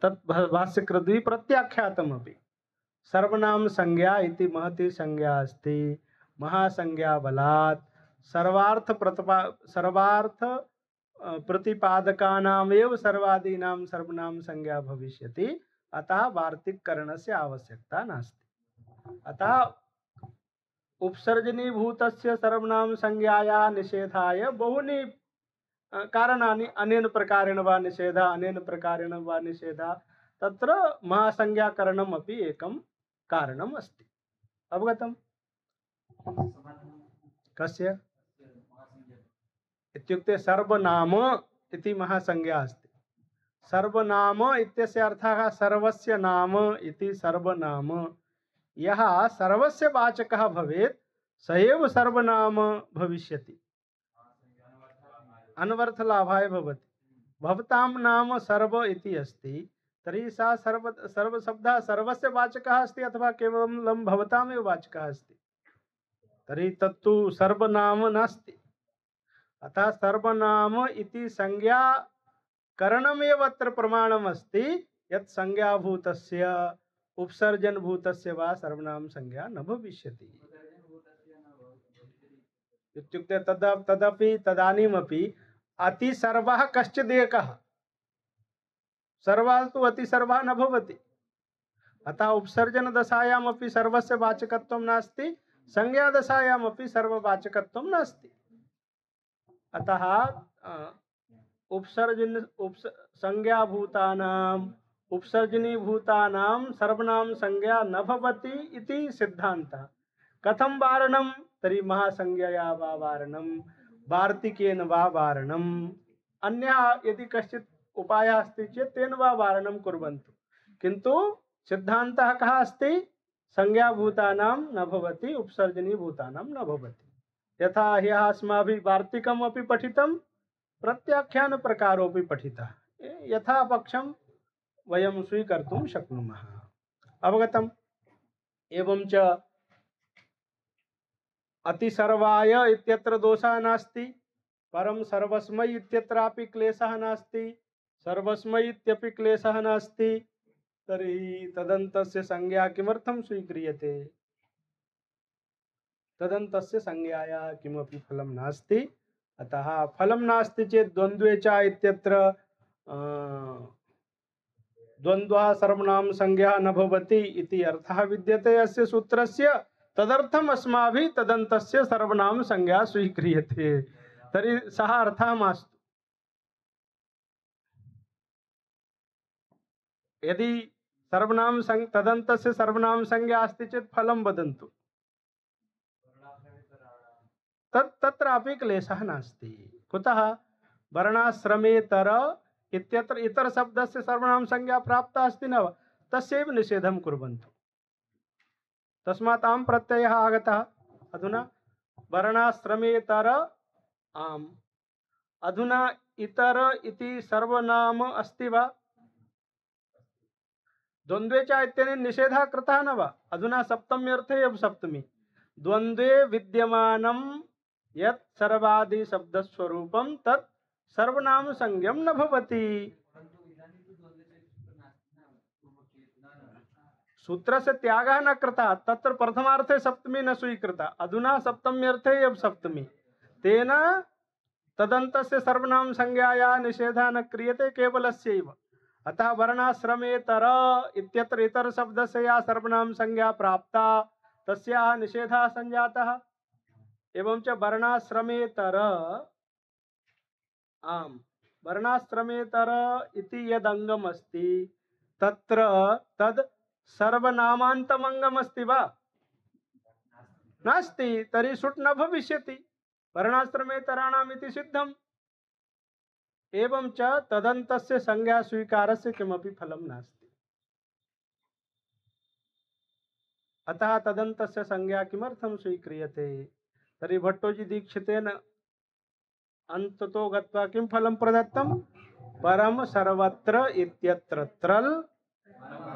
तत् भाष्यकृद्भिः प्रत्याख्यातमपि। सर्वनाम संज्ञा इति महती संज्ञा अस्ति। महासंज्ञा बलात् सर्वार्थ प्रतिपादकानामेव सर्वादीनां सर्वनाम संज्ञा भविष्यति। अतः वार्तिककरणस्य आवश्यकता नास्ति। अतः उपसर्जनीभूतस्य सर्वनाम संज्ञायाः निषेधाय बहूनि कारणानि, अनेन प्रकारेण वा निषेधः, अनेन प्रकारेण वा निषेधः, तत्र महासंज्ञाकरणम् अपि एकं कारणम् अस्ति। अवगतम्? कस्य इत्युक्ते सर्वनाम इति महासंज्ञा अस्ति। सर्वनाम इत्यस्य अर्थः सर्वस्य नाम इति। सर्वनाम यः सर्वस्य वाचकः भवेत् स एव सर्वनाम भविष्यति, अन्वर्थलाभाय भवति। भवतां नाम सर्व इति अस्ति, तर्हि सा सर्वशब्दः सर्वस्य वाचकः अस्ति अथवा केवलं भवतामेव वाचकः अस्ति, तर्हि तत्तु सर्वनाम नास्ति। अतः सर्वनाम इति संज्ञा करणमेव अत्र प्रमाणमस्ति यत् संज्ञाभूतस्य उपसर्जनभूतस्य वा सर्वनाम संज्ञा न भविष्यति। इत्युक्ते तदपि तदानीमपि अतिसर्वः कश्चिदेकः, सर्वः तु अतिसर्वः न भवति। अतः उपसर्जनदशायामपि सर्वस्य वाचकत्वं नास्ति, संज्ञादशायामपि सर्ववाचकत्वं नास्ति। अतः संज्ञाभूतानां उपसर्जनीभूतानां सर्वनाम संज्ञा न भवति इति सिद्धान्तः। कथं वारणं? तर्हि महासंज्ञया वा वारणं, वार्तिकेन वा वारणम्। अन्यः यदि कश्चित् उपायः अस्ति चेत् तेन वा वारणं कुर्वन्तु, किन्तु सिद्धान्तः कः अस्ति? संज्ञाभूतानां न भवति, उपसर्जनीभूतानां न भवति। यथा ह्यः अस्माभिः वार्तिकम् अपि पठितं, प्रत्याख्यानप्रकारोऽपि पठितः, यथा पक्षं वयं स्वीकर्तुं शक्नुमः। अवगतम्? एवं च अतिसर्वाय इत्यत्र दोषः नास्ति, परं सर्वस्मै इत्यत्रापि क्लेशः नास्ति, सर्वस्मै इत्यपि क्लेशः नास्ति। तर्हि तदन्तस्य संज्ञा किमर्थं स्वीक्रियते? तदन्तस्य संज्ञायाः किमपि फलं नास्ति। अतः फलं नास्ति चेत् द्वन्द्वे च इत्यत्र द्वन्द्वः सर्वनाम संज्ञा न भवति इति अर्थः विद्यते अस्य सूत्रस्य। तदर्थम् अस्माभिः तदन्तस्य सर्वनाम संज्ञा स्वीक्रियते। तर्हि सः अर्थः मास्तु। यदि सर्वनाम तदन्तस्य सर्वनाम संज्ञा अस्ति चेत् फलं वदन्तु। तत्रापि क्लेशः नास्ति। कुतः? वर्णाश्रमेतर इत्यत्र इतर शब्दस्य सर्वनाम संज्ञा प्राप्ता अस्ति न वा? तस्यैव निषेधं कुर्वन्तु। तस्मात् आम् प्रत्ययः आगतः। अधुना वर्णाश्रमेतर आम्। अधुना इतर इति सर्वनाम अस्ति वा? द्वन्द्वे च इत्यनेन निषेधः कृतः न वा? अधुना सप्तम्यर्थे एव सप्तमी। द्वन्द्वे विद्यमानं यत् सर्वादि शब्दस्वरूपं तत् सर्वनाम संज्ञं न भवति। सूत्रस्य त्यागः न कृतः, तत्र प्रथमार्थे सप्तमी न स्वीकृता, अधुना सप्तम्यर्थे एव सप्तमी। तेन तदन्तस्य सर्वनाम संज्ञायाः निषेधः न क्रियते, केवलस्यैव। अतः वर्णाश्रमेतर इत्यत्र इतर शब्दस्य या सर्वनाम संज्ञा प्राप्ता तस्याः निषेधः संजातः। एवं च वर्णाश्रमेतर आम्, वर्णाश्रमेतर इति यदङ्गम् अस्ति तत्र तद् सर्वनामान्तमङ्गम् अस्ति वा? नास्ति। तर्हि सुट् न भविष्यति। वर्णाश्रमेतराणाम् इति सिद्धम्। एवं च तदन्तस्य संज्ञा स्वीकारस्य किमपि फलं नास्ति। अतः तदन्तस्य संज्ञा किमर्थं स्वीक्रियते? तर्हि भट्टोजी दीक्षितेन अन्ततो गत्वा किं फलं प्रदत्तं? परम सर्वत्र इत्यत्र त्रल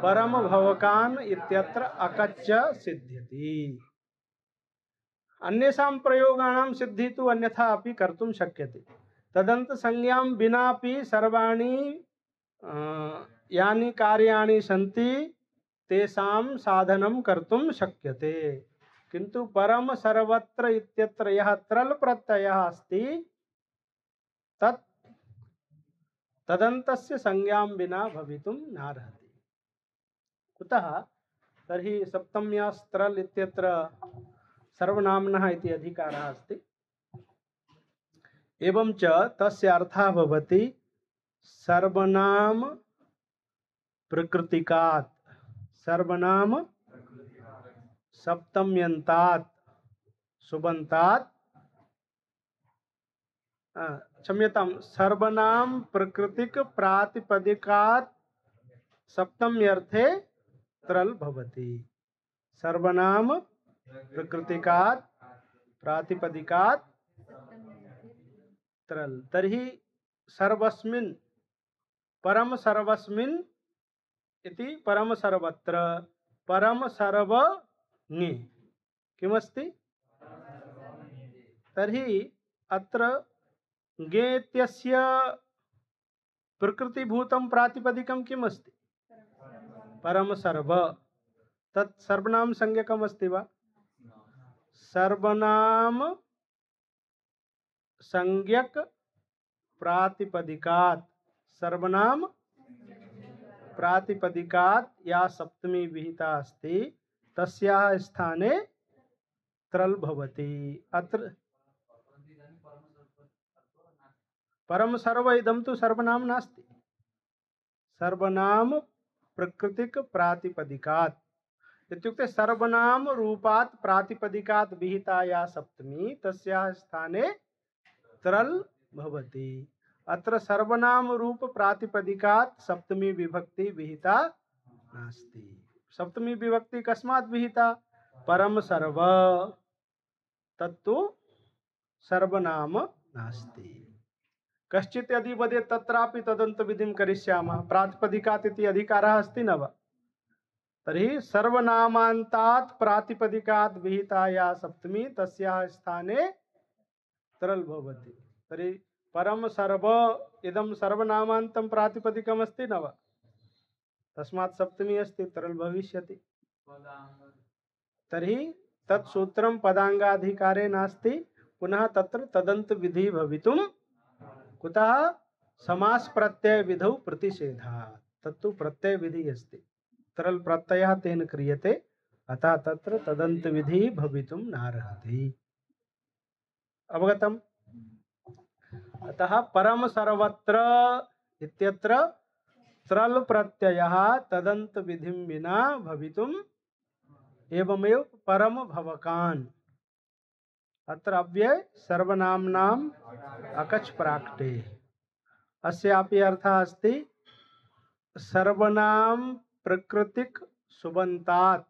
परम भवकान इत्यत्र अकच्च सिद्ध्यति। अन्येषां प्रयोगाणां सिद्धि तु अन्यथा अपि कर्तुं शक्यते। तदन्त संज्ञां विनापि सर्वाणि यानि कार्याणि सन्ति तेषां साधनं कर्तुं शक्यते। किन्तु परम सर्वत्र इत्यत्र यः त्रल प्रत्ययः अस्ति तत् तदन्तस्य संज्ञां विना भवितुं नार्हति। कुतः? तर्हि सप्तम्यास्त्रल इत्यत्र सर्वनाम्नः इति अधिकारः अस्ति। एवं च तस्य अर्थः भवति सर्वनाम प्रकृतिकात्, सर्वनाम सप्तम्यन्तात् सुबन्तात्, क्षम्यतां, सर्वनाम प्रकृतिक प्रातिपदिकात् सप्तम्यर्थे त्रल भवति। सर्वनाम प्रकृतिकात् प्रातिपदिकात् त्रल। तर्हि सर्वस्मिन् परम सर्वस्मिन् इति परम सर्वत्र परम सर्वज्ञे किमस्ति? तर्हि अत्र ज्ञे इत्यस्य प्रकृतिभूतं प्रातिपदिकं किम् अस्ति? परम सर्व। तत् सर्वनाम संज्ञकम् अस्ति वा? सर्वनाम संज्ञक प्रातिपदिकात्, सर्वनाम प्रातिपदिकात् या सप्तमी विहिता अस्ति तस्याः स्थाने त्रल भवति। अत्र परम सर्व इदं तु सर्वनाम नास्ति। सर्वनाम प्रकृतिक प्रातिपदिकात् इत्युक्ते सर्वनाम रूपात् प्रातिपदिकात् विहिता या सप्तमी तस्याः स्थाने त्रल भवति। अत्र सर्वनाम रूप प्रातिपदिकात् सप्तमी विभक्ति विहिता नास्ति। सप्तमी विभक्ति कस्मात् विहिता? परम सर्व, तत्तु सर्वनाम नास्ति। कश्चित् यदि वदेत् तत्रापि तदन्त विधिं करिष्यामः, प्रातिपदिकात् इति अधिकारः अस्ति न वा? तर्हि सर्वनामान्तात् प्रातिपदिकात् विहिता या सप्तमी तस्याः स्थाने तरल भवति। तर्हि परम सर्व इदं सर्वनामान्तं प्रातिपदिकम् अस्ति न वा? तस्मात् सप्तमी अस्ति, तरल भविष्यति। तर्हि तत्सूत्रं पदाङ्गाधिकारे नास्ति। पुनः तत्र तदन्त विधि भवितुं कुतः? समास प्रत्यय विधौ प्रतिषेधात्, तत्तु प्रत्यय विधि अस्ति, तरल प्रत्ययः तेन क्रियते, अतः तत्र तदन्त विधि भवितुं नार्हति। अवगतम्? अतः परम सर्वत्र इत्यत्र त्रल प्रत्ययः तदन्त विधिं विना भवितुम्, एवमेव परम भवकान्, अत्र अव्यय सर्वनाम्नाम् अकच् प्राक्टे। अस्यापि अर्थः अस्ति सर्वनाम प्रकृतिक सुबन्तात्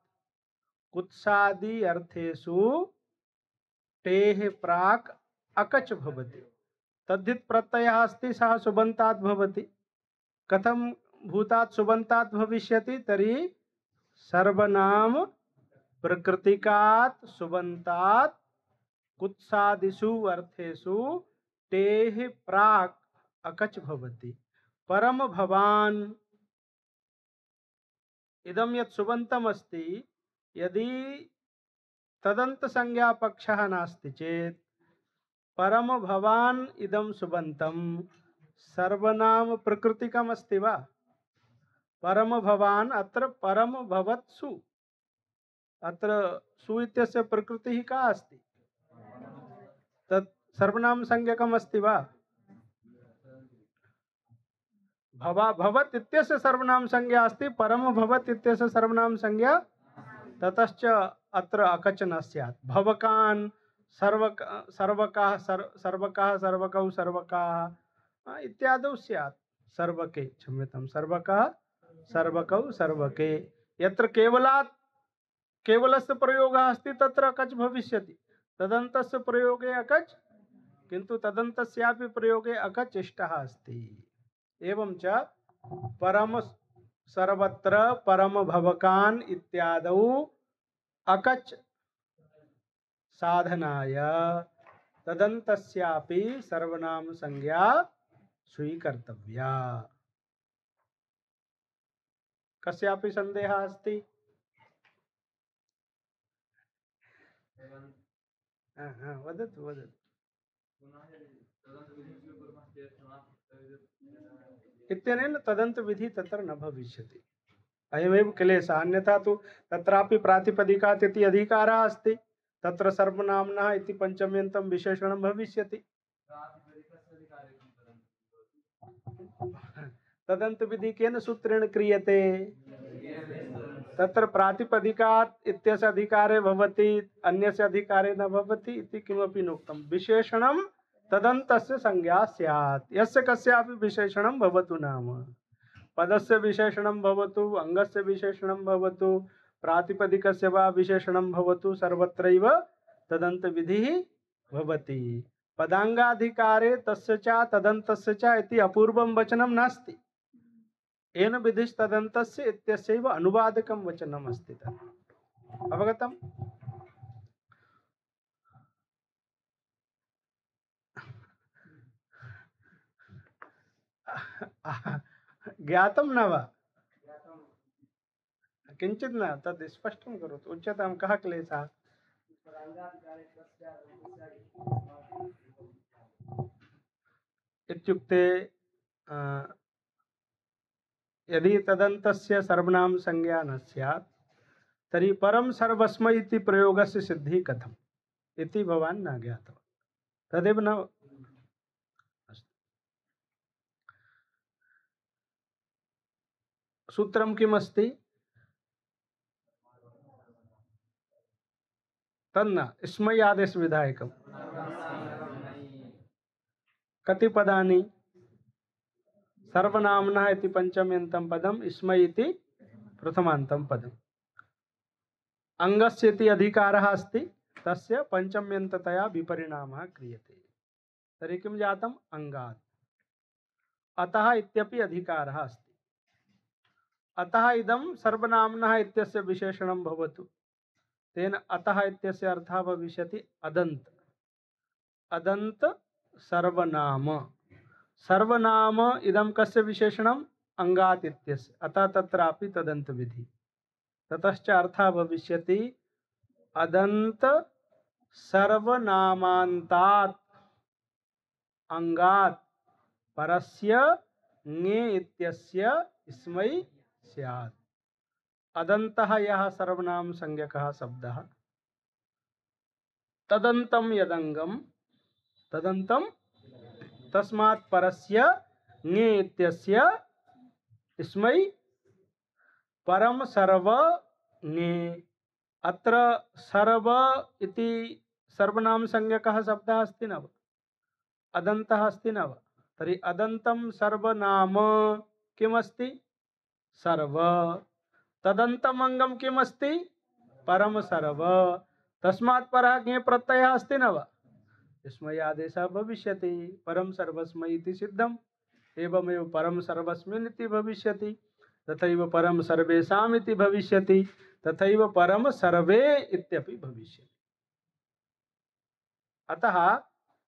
कुत्सादि अर्थेषु टेः प्राक् अकच् भवति। तद्धित् प्रत्ययः अस्ति, सः सुबन्तात् भवति। कथं भूतात् सुबन्तात् भविष्यति? तर्हि सर्वनाम प्रकृतिकात् सुबन्तात् कुत्सादिषु अर्थेषु टेः प्राक् अकच् भवति। परम भवान् इदं यत् सुबन्तम् अस्ति, यदि तदन्त संज्ञा पक्षः नास्ति चेत् परम भवान् इदं सुबन्तं सर्वनाम प्रकृतिकम् अस्ति वा? परम भवान् अत्र परम भवत्सु, अत्र सु इत्यस्य प्रकृतिः का अस्ति? तत् सर्वनाम संज्ञकम् अस्ति वा? भवत् इत्यस्य सर्वनाम संज्ञा अस्ति, परम भवत् इत्यस्य सर्वनाम संज्ञा, ततश्च अत्र अकच् न स्यात्। भवकान् सर्वकाः सर्वकौ सर्वकाः इत्यादौ स्यात्। सर्वके, क्षम्यतां, सर्वकाः सर्वकौ सर्वके। यत्र केवलस्य प्रयोगः अस्ति तत्र अकच् भविष्यति। तदन्तस्य प्रयोगे अकच्, किन्तु तदन्तस्यापि प्रयोगे अकच् इष्टः अस्ति। एवं च परम सर्वत्र परम भवकान् इत्यादौ अकच् साधनाय तदन्तस्यापि सर्वनाम संज्ञा स्वीकर्तव्या। कस्यापि संदेहः अस्ति? वदतु वदतु। इत्यनेन तदन्त विधि तत्र न भविष्यति। अयमेव क्लेशः। अन्यथा तु तत्रापि प्रातिपदिकात् इति अधिकारः अस्ति, तत्र सर्वनाम्नः इति पंचम्यन्तं विशेषणं भविष्यति। तदन्त विधि केन सूत्रेण क्रियते? तत्र प्रातिपदिकात् इत्यस्य अधिकारे भवति, अन्यस्य अधिकारे न भवति इति किमपि नोक्तं। विशेषणं तदन्तस्य संज्ञा स्यात्, यस्य कस्यापि विशेषणं भवतु नाम। पदस्य विशेषणं भवतु, अङ्गस्य विशेषणं भवतु, प्रातिपदिकस्य वा विशेषणं भवतु, सर्वत्रैव तदन्त विधिः भवति। पदाङ्गाधिकारे तस्य च तदन्तस्य च इति अपूर्वं वचनं नास्ति। येन विधिस्तदन्तस्य इत्यस्यैव अनुवादकं वचनम् अस्ति तत्। अवगतम्? ज्ञातं न वा? किञ्चित् न, तद् स्पष्टं करोतु। उच्यतां कः क्लेशः? इत्युक्ते यदि तदन्तस्य सर्वनाम संज्ञा न स्यात् तर्हि परम सर्वस्मै इति प्रयोगस्य सिद्धिः कथम् इति भवान् न ज्ञातवान्। तदेव न। सूत्रं किमस्ति? तन्न स्मै आदेश विधायकम्। कति पदानि? सर्वनाम्नः इति पंचम्यन्तं पदम्, इस्मै इति प्रथमान्तं पदम्। अंगस्य इति अधिकारः अस्ति, तस्य पंचम्यन्ततया विपरिणामः क्रियते। तर्हि किं जातम्? अंगात्। अतः इत्यपि अधिकारः अस्ति। अतः इदं सर्वनाम्नः इत्यस्य विशेषणं भवतु, तेन अतः इत्यस्य अर्थः भविष्यति अदन्त। अदन्त सर्वनाम। सर्वनाम इदं कस्य विशेषणम्? अंगात् इत्यस्य। अतः तत्रापि तदन्त विधि। ततश्च अर्थः भविष्यति अदन्त सर्वनामान्तात् अंगात् परस्य ङे इत्यस्य इस्मै स्यात्। अदन्तः यः सर्वनाम संज्ञकः शब्दः, तदन्तं यदंगम, तदन्तं तस्मात् परस्य ङे इत्यस्य इस्मै परम सर्व ङे। अत्र सर्व इति सर्वनाम संज्ञकः शब्दः अस्ति न वा? अदन्तः अस्ति न वा? तर्हि अदन्तं सर्वनाम किमस्ति? सर्व। तदन्तम् अङ्गं किमस्ति? परम सर्व। तस्मात् परः ङे प्रत्ययः अस्ति न वा? इस्मै आदेशः भविष्यति। परम सर्वस्मै इति सिद्धम्। एवमेव परम सर्वस्मिन् इति भविष्यति, तथैव परम सर्वेषाम् इति भविष्यति, तथैव परम सर्वे इत्यपि भविष्यति। अतः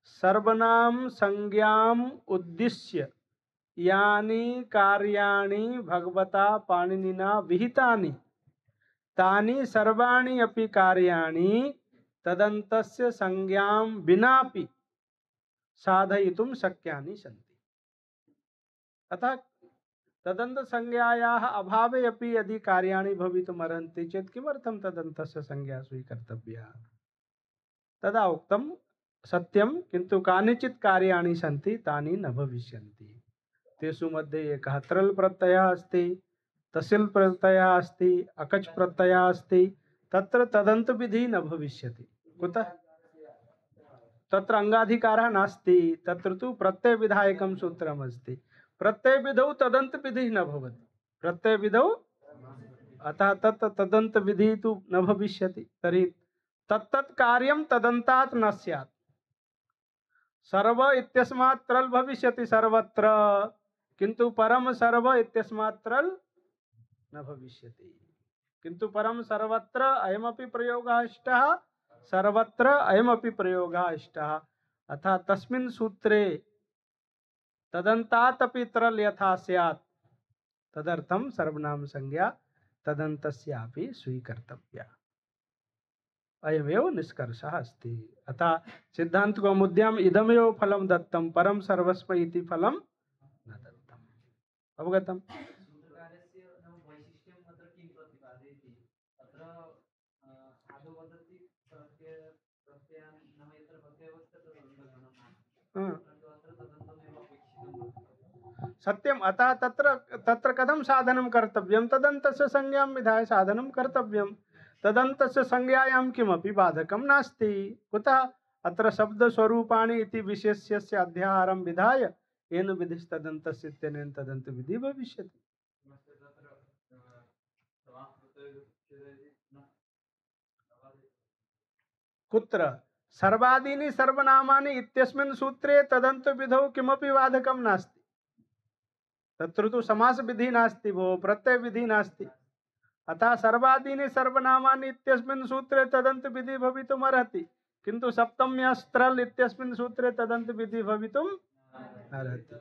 सर्वनाम संज्ञाम् उद्दिश्य यानि कार्याणि भगवता पाणिनिना विहितानि, तानि सर्वाणि अपि कार्याणि तदन्तस्य संज्ञां विनापि साधयितुं शक्यानि सन्ति। अतः तदन्त संज्ञायाः अभावे अपि यदि कार्याणि भवितुमर्हन्ति चेत् किमर्थं तदन्तस्य संज्ञा स्वीकर्तव्या? तदा उक्तं सत्यं, किन्तु कानिचित् कार्याणि सन्ति तानि न भविष्यन्ति। तेषु मध्ये एकः त्रल् प्रत्ययः अस्ति, तसिल् प्रत्ययः अस्ति, अकच् प्रत्ययः अस्ति। तत्र तदन्त विधि न भविष्यति। कुतः? तत्र अंगाधिकारः नास्ति। तत्र तु प्रत्यय विधायकं सूत्रमस्ति। प्रत्यय विधौ तदन्त विधि न भवति। प्रत्यय विधौ, अतः तत् तदन्त विधि तु न भविष्यति। तर्हि तत्तत् कार्यं तदन्तात् न स्यात्। सर्व इत्यस्मात् त्रल् भविष्यति सर्वत्र, किन्तु परम सर्व इत्यस्मात् त्रल् न भविष्यति। किन्तु परम सर्वत्र अयमपि प्रयोगः इष्टः, सर्वत्र अयमपि प्रयोगः इष्टः। अतः तस्मिन् सूत्रे तदन्तात् अपि त्रल् यथा स्यात्, तदर्थं सर्वनाम संज्ञा तदन्तस्यापि स्वीकर्तव्या। अयमेव निष्कर्षः अस्ति। अतः सिद्धान्तकौमुद्याम् इदमेव फलं दत्तं, परम सर्वस्मै इति फलं न दत्तम्। अवगतम्? सत्यम्। अतः तत्र कथं साधनं कर्तव्यं? तदन्तस्य संज्ञां विधाय साधनं कर्तव्यं। तदन्तस्य संज्ञायां किमपि बाधकं नास्ति। कुतः? अत्र शब्दस्वरूपाणि इति विशेष्यस्य अध्याहारं विधाय येन विधिस्तदन्तस्य इत्यनेन तदन्त विधि भविष्यति। कुत्र? सर्वादीनि सर्वनामानि इत्यस्मिन् सूत्रे तदन्त विधौ किमपि बाधकं नास्ति। तत्र तु समास विधि नास्ति भो, प्रत्यय विधि नास्ति। अतः सर्वादीनि सर्वनामानि इत्यस्मिन् सूत्रे तदन्त विधि भवितुमर्हति, किन्तु सप्तम्यस्त्रल् इत्यस्मिन् सूत्रे तदन्त विधि भवितुम् अर्हति।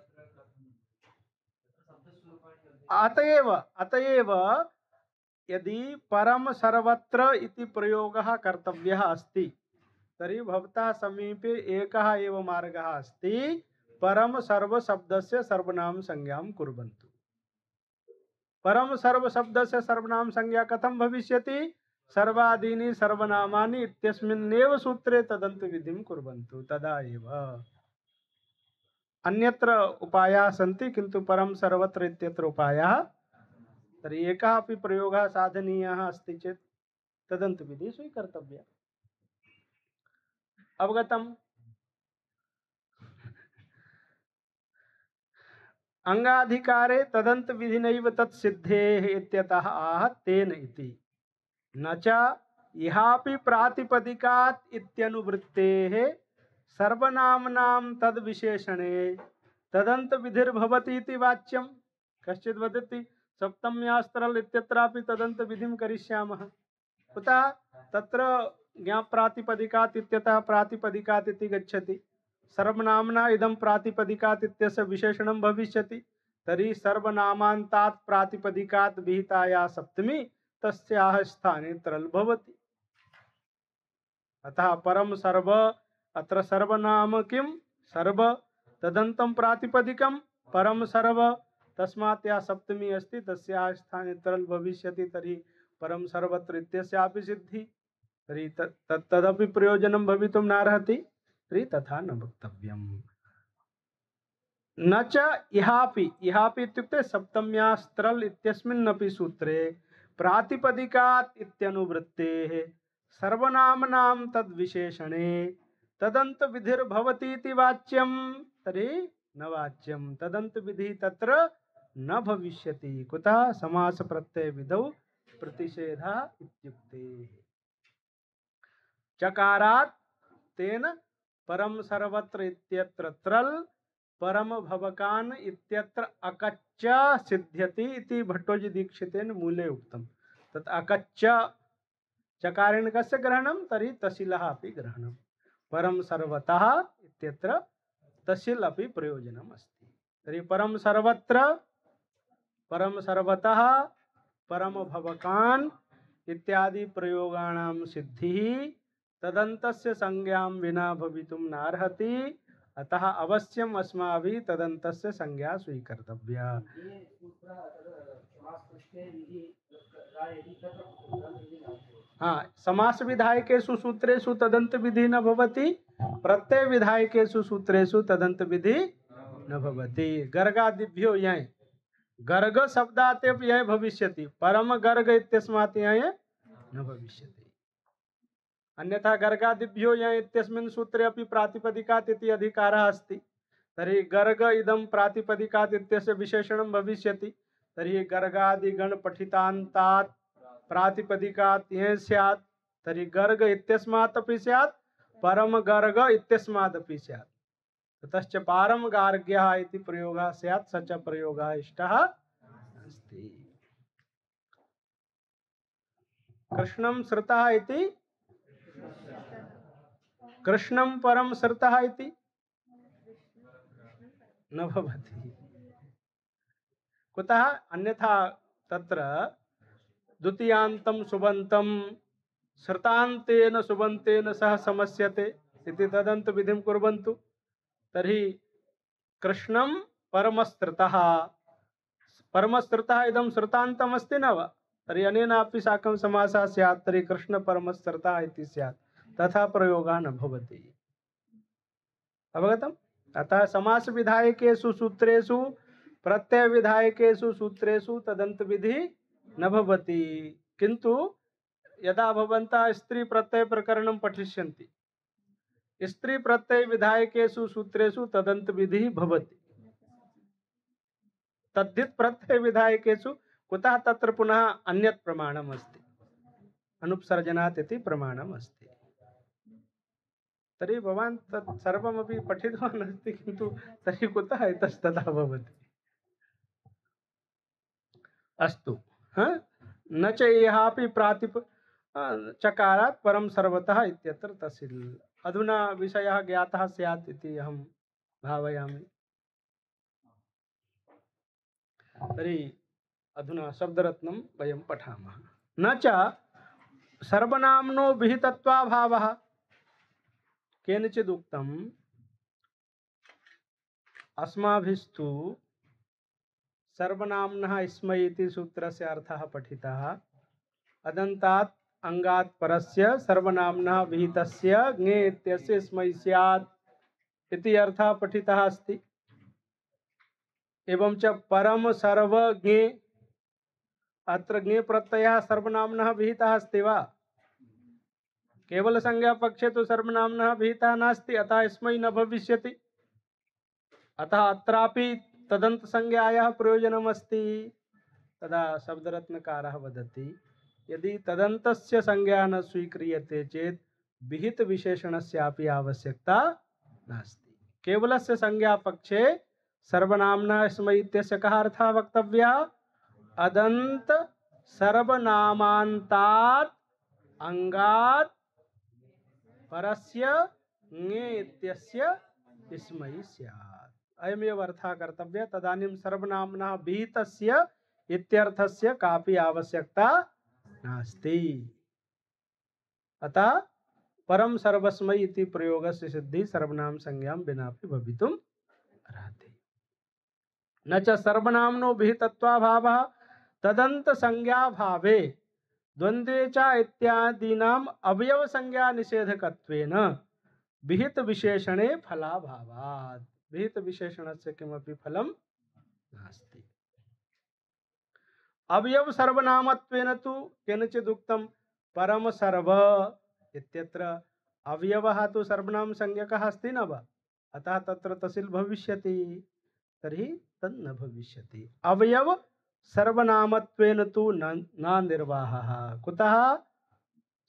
अतएव यदि परम सर्वत्र इति प्रयोगः कर्तव्यः अस्ति, तर्हि भवतः समीपे एकः एव मार्गः अस्ति, परम सर्व शब्दस्य सर्वनाम संज्ञां कुर्वन्तु। परम सर्व शब्दस्य सर्वनाम संज्ञा कथं भविष्यति? सर्वादीनि सर्वनामानि इत्यस्मिन्नेव सूत्रे तदन्त विधिं कुर्वन्तु, तदा एव। अन्यत्र उपायाः सन्ति, किन्तु परम सर्वत्र इत्यत्र उपायः। तर्हि एकः अपि प्रयोगः साधनीयः अस्ति चेत् तदन्त विधि स्वीकर्तव्या। अवगतम्? अंगाधिकारे तदंत विधिनैव तत्सिद्धेः इत्यतः आह तेन इति न च इहापि प्रातिपदिकात् इत्यनुवृत्तेः सर्वनाम्नां तद्विशेषणे तदंत विधिर्भवति इति वाच्यं। कश्चित् वदति सप्तम्यास्त्रल इत्यत्रापि तदंत विधिं करिष्यामः। कुतः? तत्र ज्ञाप्रातिपदिकात् इत्यतः प्रातिपदिकात् इति गच्छति। सर्वनाम्ना इदं प्रातिपदिकात् इत्यस्य विशेषणं भविष्यति। तर्हि सर्वनामान्तात् प्रातिपदिकात् विहिताया सप्तमी तस्याः स्थाने त्रल भवति। अतः परम सर्व अत्र सर्वनाम किं? सर्व तदन्तं प्रातिपदिकं परम सर्व, तस्मात् या सप्तमी अस्ति तस्याः स्थाने त्रल भविष्यति। तर्हि परम सर्वत्र इत्यस्यापि सिद्धि, तर्हि तदपि प्रयोजनं भवितुं नार्हति। तर्हि तथा न वक्तव्यम्। न च इहापि, इहापि इत्युक्ते सप्तम्यास्त्रल इत्यस्मिन्नपि सूत्रे प्रातिपदिकात् इत्यनुवृत्तेः सर्वनाम्नां तद्विशेषणे तदंत विधिर्भवति इति वाच्यं। तर्हि न वाच्यं, तदंत विधि तत्र न भविष्यति। कुतः? समास प्रत्यय विधौ प्रतिषेधः इत्युक्ते। चकारात् तेन परम सर्वत्र इत्यत्र त्रल परम भवकान इत्यत्र अकच्च सिद्ध्यति इति भट्टोजी दीक्षितेन मूले उक्तम्। तत् अकच्च चकारेण कस्य ग्रहणं? तर्हि तसिलः अपि ग्रहणं। परम सर्वतः इत्यत्र तसिल अपि प्रयोजनम् अस्ति। तर्हि परम सर्वत्र, परम सर्वतः, परम भवकान् इत्यादि प्रयोगाणां सिद्धिः तदन्तस्य संज्ञां विना भवितुं नार्हति। अतः अवश्यम अस्माभिः तदन्तस्य संज्ञा स्वीकर्तव्या। हाँ, समास विधायकेषु सूत्रेषु तदंत विधि न भवति, प्रत्यय विधायकेषु सूत्रेषु तदंत विधि न भवति। गर्गादिभ्यो यय, गर्ग शब्दात् एव यय भविष्यति, परम गर्ग इत्यस्मात् यय न भविष्यति। अन्यथा गर्गादिभ्यो यय इत्यस्मिन् सूत्रे अपि प्रातिपदिकात् इति अधिकारः अस्ति। तर्हि गर्ग इदं प्रातिपदिकात् इत्यस्य विशेषणं भविष्यति। तर्हि गर्गादिगण पठितान्तात् प्रातिपदिकात् यह स्यात्। तर्हि गर्ग इत्यस्मात् अपि स्यात्, परम गर्ग इत्यस्मात् अपि स्यात्। ततश्च पारम गार्ग्यः इति प्रयोगः स्यात्, स च प्रयोगः इष्टः अस्ति। कृष्णं श्रुतः इति, कृष्णं परम श्रुतः इति न भवति। कुतः? अन्यथा तत्र द्वितीयान्तं सुबन्तं श्रुतान्तेन सुबन्तेन सह समस्यते इति तदन्त विधिं कुर्वन्तु। तर्हि कृष्णं परमश्रुतः, परमश्रुतः इदं श्रुतान्तम् अस्ति न वा? तर्हि अनेनापि साकं समासः स्यात्। तर्हि कृष्ण परमश्रुतः इति स्यात्। तथा प्रयोगः न भवति। अवगतम्? अतः समास विधायकेषु सूत्रेषु प्रत्यय विधायकेषु सूत्रेषु तदंत विधि न भवति। किंतु यदा भवन्तः स्त्री प्रत्यय प्रकरणं पठिष्यन्ति, स्त्री प्रत्यय विधायकेषु सूत्रेषु तदंत विधि भवति। तद्धित प्रत्यय विधायकेषु कुतः? तत्र पुनः अन्यत् प्रमाणम् अस्ति, अनुपसर्जनात् इति प्रमाणम् अस्ति। तर्हि भवान् तत् सर्वमपि पठितवान् अस्ति, किन्तु तर्हि कुतः इतस्ततः भवति? अस्तु, न च इहापि चकारात् परम सर्वतः इत्यत्र तसिल। अधुना विषयः ज्ञातः स्यात् इति अहं भावयामि। तर्हि अधुना शब्दरत्नं वयं पठामः। न च सर्वनाम्नो विहितत्वाभावः। केनचिदुक्तम् अस्माभिस्तु सर्वनाम्नः स्मै इति सूत्रस्य अर्थः पठितः। अदन्तात् अंगात् परस्य सर्वनाम्नः विहितस्य ज्ञे इत्यस्य स्मै स्यात् इति अर्थः पठितः अस्ति। एवं च परम सर्वज्ञे, अत्र ज्ञे प्रत्ययः सर्वनाम्नः विहितः अस्ति वा? केवल संज्ञा पक्षे तो सर्वनाम्नः विहितः नास्ति, अतः स्मै न भविष्यति। अतः अत्रापि तदन्त संज्ञायाः प्रयोजनमस्ति तदा शब्दरत्नकारः वदति यदि तदन्तस्य संज्ञा न स्वीक्रियते चेत् विहित विशेषणस्यापि आवश्यकता नास्ति। केवलस्य संज्ञा पक्षे सर्वनाम्ना स्म इत्यस्य कः अर्थः वक्तव्यः? अदन्त सर्वनामान्तात् अंगात् परस्य ङे इत्यस्य स्मै स्यात्। अयमेव अर्थः कर्तव्यः। तदानीं सर्वनाम्नः विहितस्य इत्यर्थस्य कापि आवश्यकता नास्ति। अतः परम सर्वस्मै इति प्रयोगस्य सिद्धि सर्वनाम संज्ञां विनापि भवितुम् अर्हति। न च सर्वनाम्नो विहितत्वाभावः तदन्त संज्ञा भावे द्वन्द्वे च इत्यादीनाम् अवयव संज्ञा निषेधकत्वेन विहित विशेषणे फलाभावात्। विहित विशेषणस्य किमपि फलं नास्ति। अवयव सर्वनामत्वेन तु केनचिदुक्तं परम सर्व इत्यत्र अवयवः तु सर्वनाम संज्ञकः अस्ति न वा? अतः तत्र तसिल भविष्यति। तर्हि तन्न न भविष्यति। अवयव सर्वनामत्वेन तु न निर्वाहः। कुतः?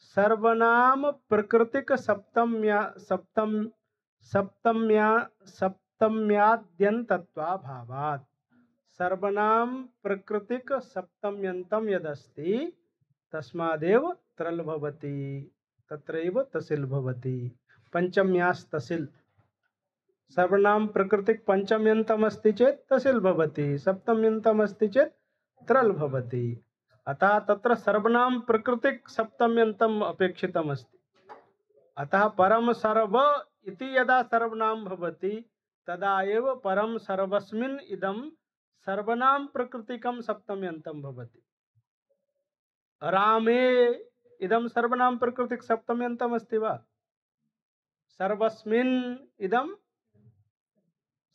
सर्वनाम प्रकृतिक सप्तम्याद्यन्तत्वाभावात्। सर्वनाम प्रकृतिक सप्तम्यन्तं यदस्ति तस्मादेव त्रल भवति, तत्रैव तसिल भवति। पंचम्यास् तसिल। सर्वनाम प्रकृतिक पंचम्यन्तम् अस्ति चेत् तसिल भवति, सप्तम्यन्तम् अस्ति चेत् त्रल भवति। अतः तत्र सर्वनाम प्रकृतिक सप्तम्यन्तम् अपेक्षितम् अस्ति। अतः परम सर्व इति यदा सर्वनाम भवति तदा एव परम सर्वस्मिन् इदं सर्वनाम प्रकृतिकं सप्तम्यन्तं भवति। रामे इदं सर्वनाम प्रकृतिक सप्तम्यन्तम् अस्ति वा? सर्वस्मिन् इदं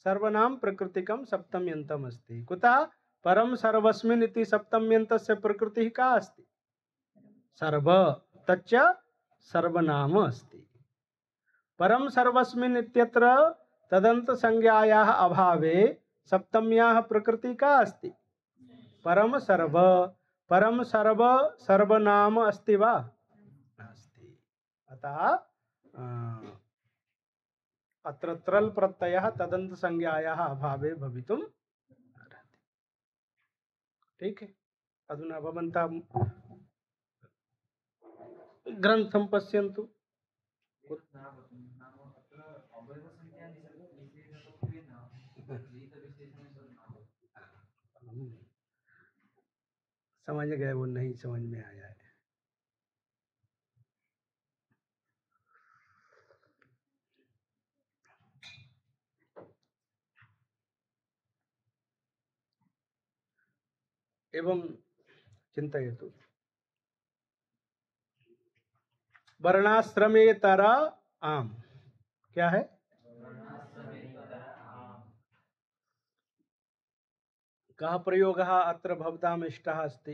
सर्वनाम प्रकृतिकं सप्तम्यन्तम् अस्ति। कुतः? परम सर्वस्मिन् इति सप्तम्यन्तस्य प्रकृतिः का अस्ति? सर्व। तच्च सर्वनाम अस्ति। परम सर्वस्मिन् इत्यत्र तदन्त संज्ञायाः अभावे सप्तम्याः प्रकृतिः का अस्ति? परम सर्व। परम सर्व सर्वनाम अस्ति वा? नास्ति। अतः अत्र त्रल प्रत्ययः तदन्त संज्ञायाः अभावे भवितुम् अर्हति। ठीक है। अधुना भवन्तः ग्रन्थं पश्यन्तु। समझ गए? वो नहीं समझ में आया है। एवं चिन्तयतु। वर्णाश्रमेतर आम क्या है? कः प्रयोगः अत्र भवताम् इष्टः अस्ति?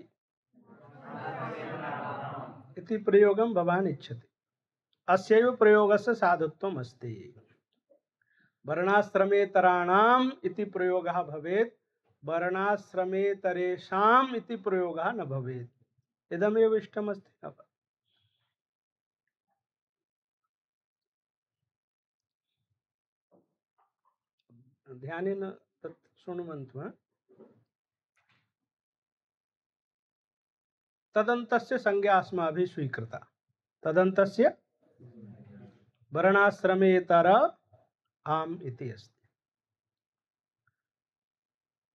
इति प्रयोगं भवान् इच्छति। अस्यैव प्रयोगस्य साधुत्वम् अस्ति। वर्णाश्रमेतराणाम् इति प्रयोगः भवेत्, वर्णाश्रमेतरेषाम् इति प्रयोगः न भवेत्। इदमेव इष्टमस्ति न वा? ध्यानेन तत् शृण्वन्तु। तदन्तस्य संज्ञा अस्माभिः स्वीकृता। तदन्तस्य वर्णाश्रमेतर आम इति अस्ति।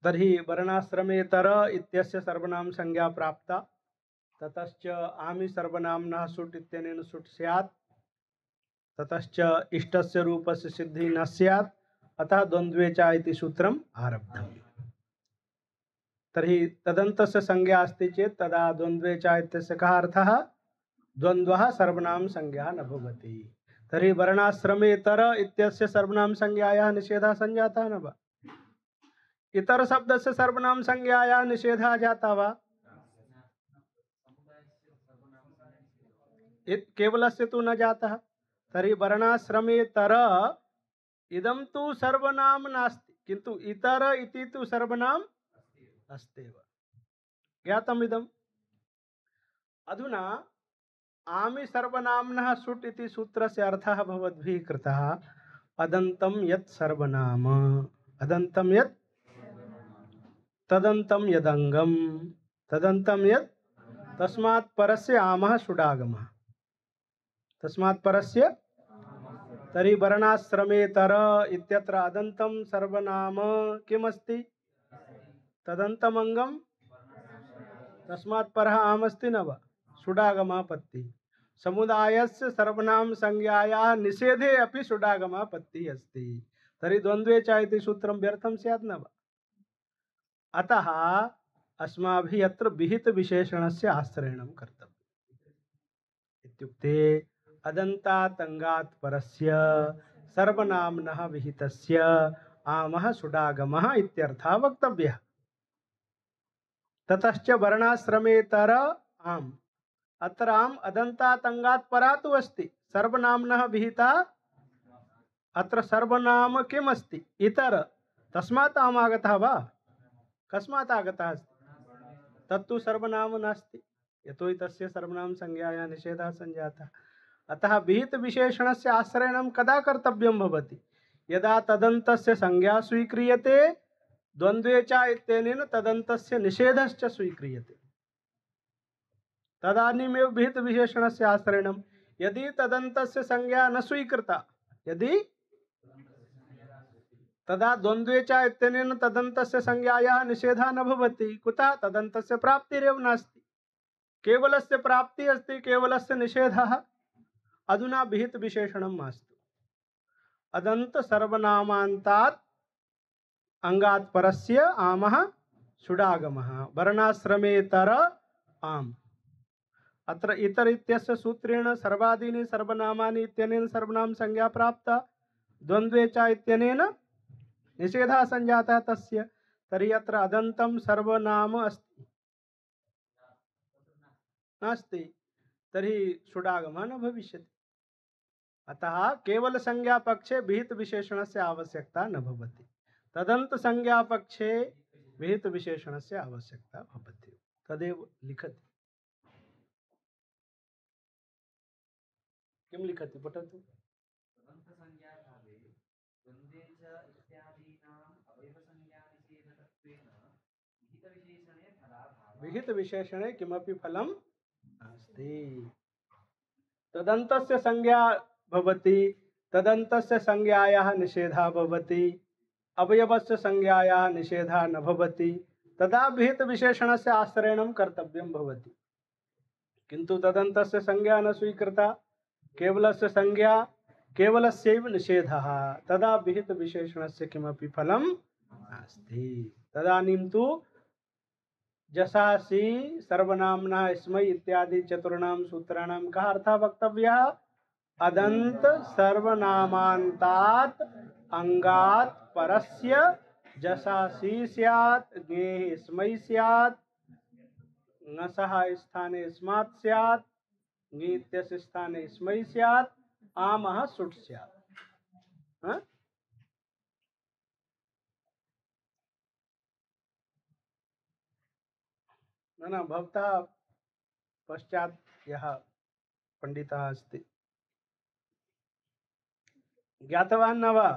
तर्हि वर्णाश्रमेतर इत्यस्य सर्वनाम संज्ञा प्राप्ता। ततश्च आमि सर्वनाम्नः सुट् इत्यनेन सुट् स्यात्। ततश्च इष्टस्य रूपस्य सिद्धि न स्यात्। अतः द्वन्द्वे च इति सूत्रम् आरब्धम्। तर्हि तदन्तस्य संज्ञा अस्ति चेत् तदा द्वन्द्वे च इत्यस्य कः अर्थः? द्वन्द्वः सर्वनाम संज्ञा न भवति। तर्हि वर्णाश्रमेतर इत्यस्य सर्वनाम संज्ञायाः निषेधः संजातः न वा? इतर शब्दस्य सर्वनाम संज्ञायाः निषेधः जातः वा? केवलस्य तु न जातः। तर्हि वर्णाश्रमेतर इदं तु सर्वनाम नास्ति, किन्तु इतर इति तु सर्वनाम अस्त्येव। ज्ञातमिदम्। अधुना आमि सर्वनाम्नः सुट् इति सूत्रस्य अर्थः भवद्भिः कृतः अदन्तं यत् सर्वनाम, अदन्तं यत् तदन्तं यदङ्गम, तदन्तं यत्, तस्मात् परस्य आमः सुडागमः, तस्मात् परस्य। तर्हि वर्णाश्रमे तर इत्यत्र अदन्तं सर्वनाम किमस्ति? तदन्तमङ्गम, तस्मात् परः आमस्ति न वा? सुडागमापत्तिः। समुदायस्य सर्वनाम संज्ञायाः निषेधे अपि सुडागमापत्तिः अस्ति। तर्हि द्वन्द्वे च इति सूत्रं व्यर्थं स्यात् न वा? अतः अस्माभिः अत्र विहित विशेषणस्य आश्रयणं कर्तव्यम्। इत्युक्ते अदन्तात् अङ्गात् परस्य सर्वनाम्नः विहितस्य आमः सुडागमः इत्यर्थः वक्तव्यः। ततश्च वर्णाश्रमेतर आम्, अत्र आम् अदन्तात् अङ्गात् परा तु अस्ति, सर्वनाम्नः विहिता। अत्र सर्वनाम किम् अस्ति? इतर, तस्मात् आम् आगतः वा? कस्मात् आगतः अस्ति? तत्तु सर्वनाम नास्ति, यतोहि तस्य सर्वनाम संज्ञायाः निषेधः सञ्जातः। अतः विहित विशेषणस्य आश्रयणं कदा कर्तव्यं भवति? यदा तदन्तस्य संज्ञा स्वीक्रियते, द्वन्द्वे च इत्यनेन तदन्तस्य निषेधश्च स्वीक्रियते, तदानीमेव विहित विशेषणस्य आश्रयणं। यदि तदन्तस्य संज्ञा न स्वीकृता, यदि तदा द्वन्द्वे च इत्यनेन तदन्तस्य संज्ञायाः निषेधः न भवति। कुतः? तदन्तस्य प्राप्तिरेव नास्ति, केवलस्य प्राप्तिः अस्ति, केवलस्य निषेधः। अधुना विहित विशेषणं मास्तु। अदन्त सर्वनामान्तात् अङ्गात् परस्य आमः सुडागमः, वर्णाश्रमेतर आम्। अत्र इतर इत्यस्य सूत्रेण सर्वादीनि सर्वनामानि इत्यनेन सर्वनाम संज्ञा प्राप्ता, द्वन्द्वे च इत्यनेन निषेधः सञ्जातः तस्य। तर्हि अत्र अदन्तं सर्वनाम अस्ति? नास्ति, तर्हि सुडागमः न भविष्यति। अतः केवल संज्ञा पक्षे विहित विशेषणस्य आवश्यकता न भवति, तदन्त संज्ञा पक्षे विहित विशेषणस्य आवश्यकता भवति। तदेव लिखति। किं लिखति? पठतु। विहित विशेषणे किमपि फलं नास्ति। तदन्तस्य संज्ञा भवति, तदन्तस्य संज्ञायाः निषेधः भवति, अवयवस्य संज्ञायाः निषेधः न भवति, तदा विहित विशेषणस्य आश्रयणं कर्तव्यं भवति। किन्तु तदन्तस्य संज्ञा न स्वीकृता, केवलस्य संज्ञा, केवलस्यैव निषेधः, तदा विहित विशेषणस्य किमपि फलं नास्ति। तदानीं तु जसासि सर्वनाम्ना स्मै इत्यादि चतुर्णां सूत्राणां कः अर्थः वक्तव्यः? अदन्त सर्वनामान्तात् अङ्गात् परस्य जसासि स्यात्, ज्ञेः स्मै स्यात्, ङसः स्थाने स्मात् स्यात्, ङीत्यस्य स्थाने स्मै स्यात्, आमः सुट् स्यात्। न भवतः पश्चात् यः पंडितः अस्ति ज्ञातवान् न वा?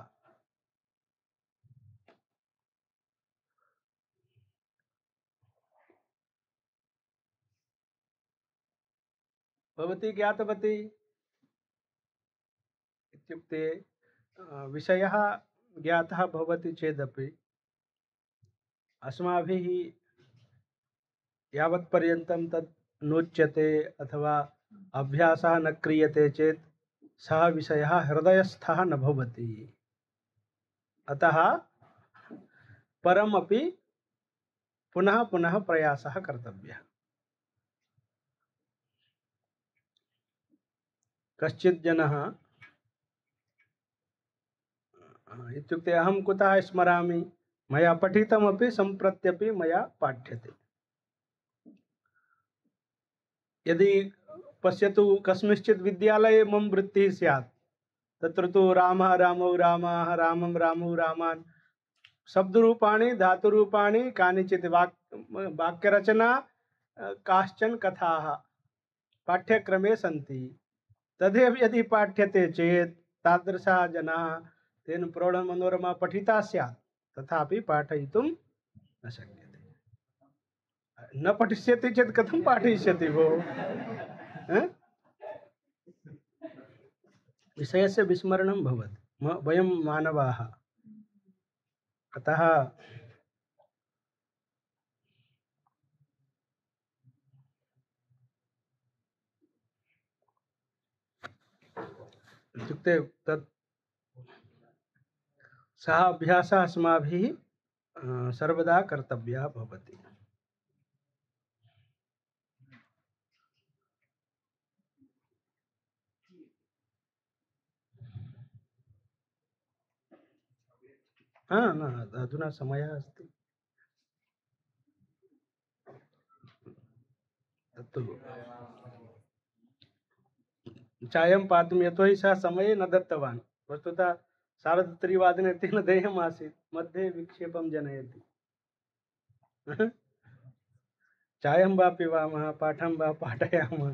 भवती ज्ञातवती? इत्युक्ते विषयः ज्ञातः भवति चेदपि अस्माभिः यावत् पर्यन्तं तत् नोच्यते अथवा अभ्यासः न क्रियते चेत् सः विषयः हृदयस्थः न भवति। अतः परमपि पुनः पुनः प्रयासः कर्तव्यः। कश्चित् जनः इत्युक्ते अहं कुतः स्मरामि, मया पठितमपि सम्प्रत्यपि मया पाठ्यते। यदि पश्यतु कस्मिंश्चित् विद्यालये मम वृत्तिः स्यात्, तत्र तु रामः रामौ रामाः, रामं रामौ रामान् शब्दरूपाणि धातुरूपाणि कानिचित् वाक्यरचना काश्चन कथाः पाठ्यक्रमे सन्ति। तदेव यदि पाठ्यते चेत् तादृशाः जनाः तेन प्रौढमनोरमा पठिता स्यात्, तथापि पाठयितुं न शक्यते। न पठिष्यति चेत् कथं पाठयिष्यति भोः? विषयस्य विस्मरणं भवति। वयं मानवाः, अतः इत्युक्ते तत् सः अभ्यासः अस्माभिः सर्वदा कर्तव्यः भवति। न अधुना समयः अस्ति। तत्तु चायं पातुं यतोहि सः समये न दत्तवान्। वस्तुतः 3:30 तेन देयम् आसीत्, मध्ये विक्षेपं जनयति। चायं वा पिबामः, पाठं वा पाठयामः।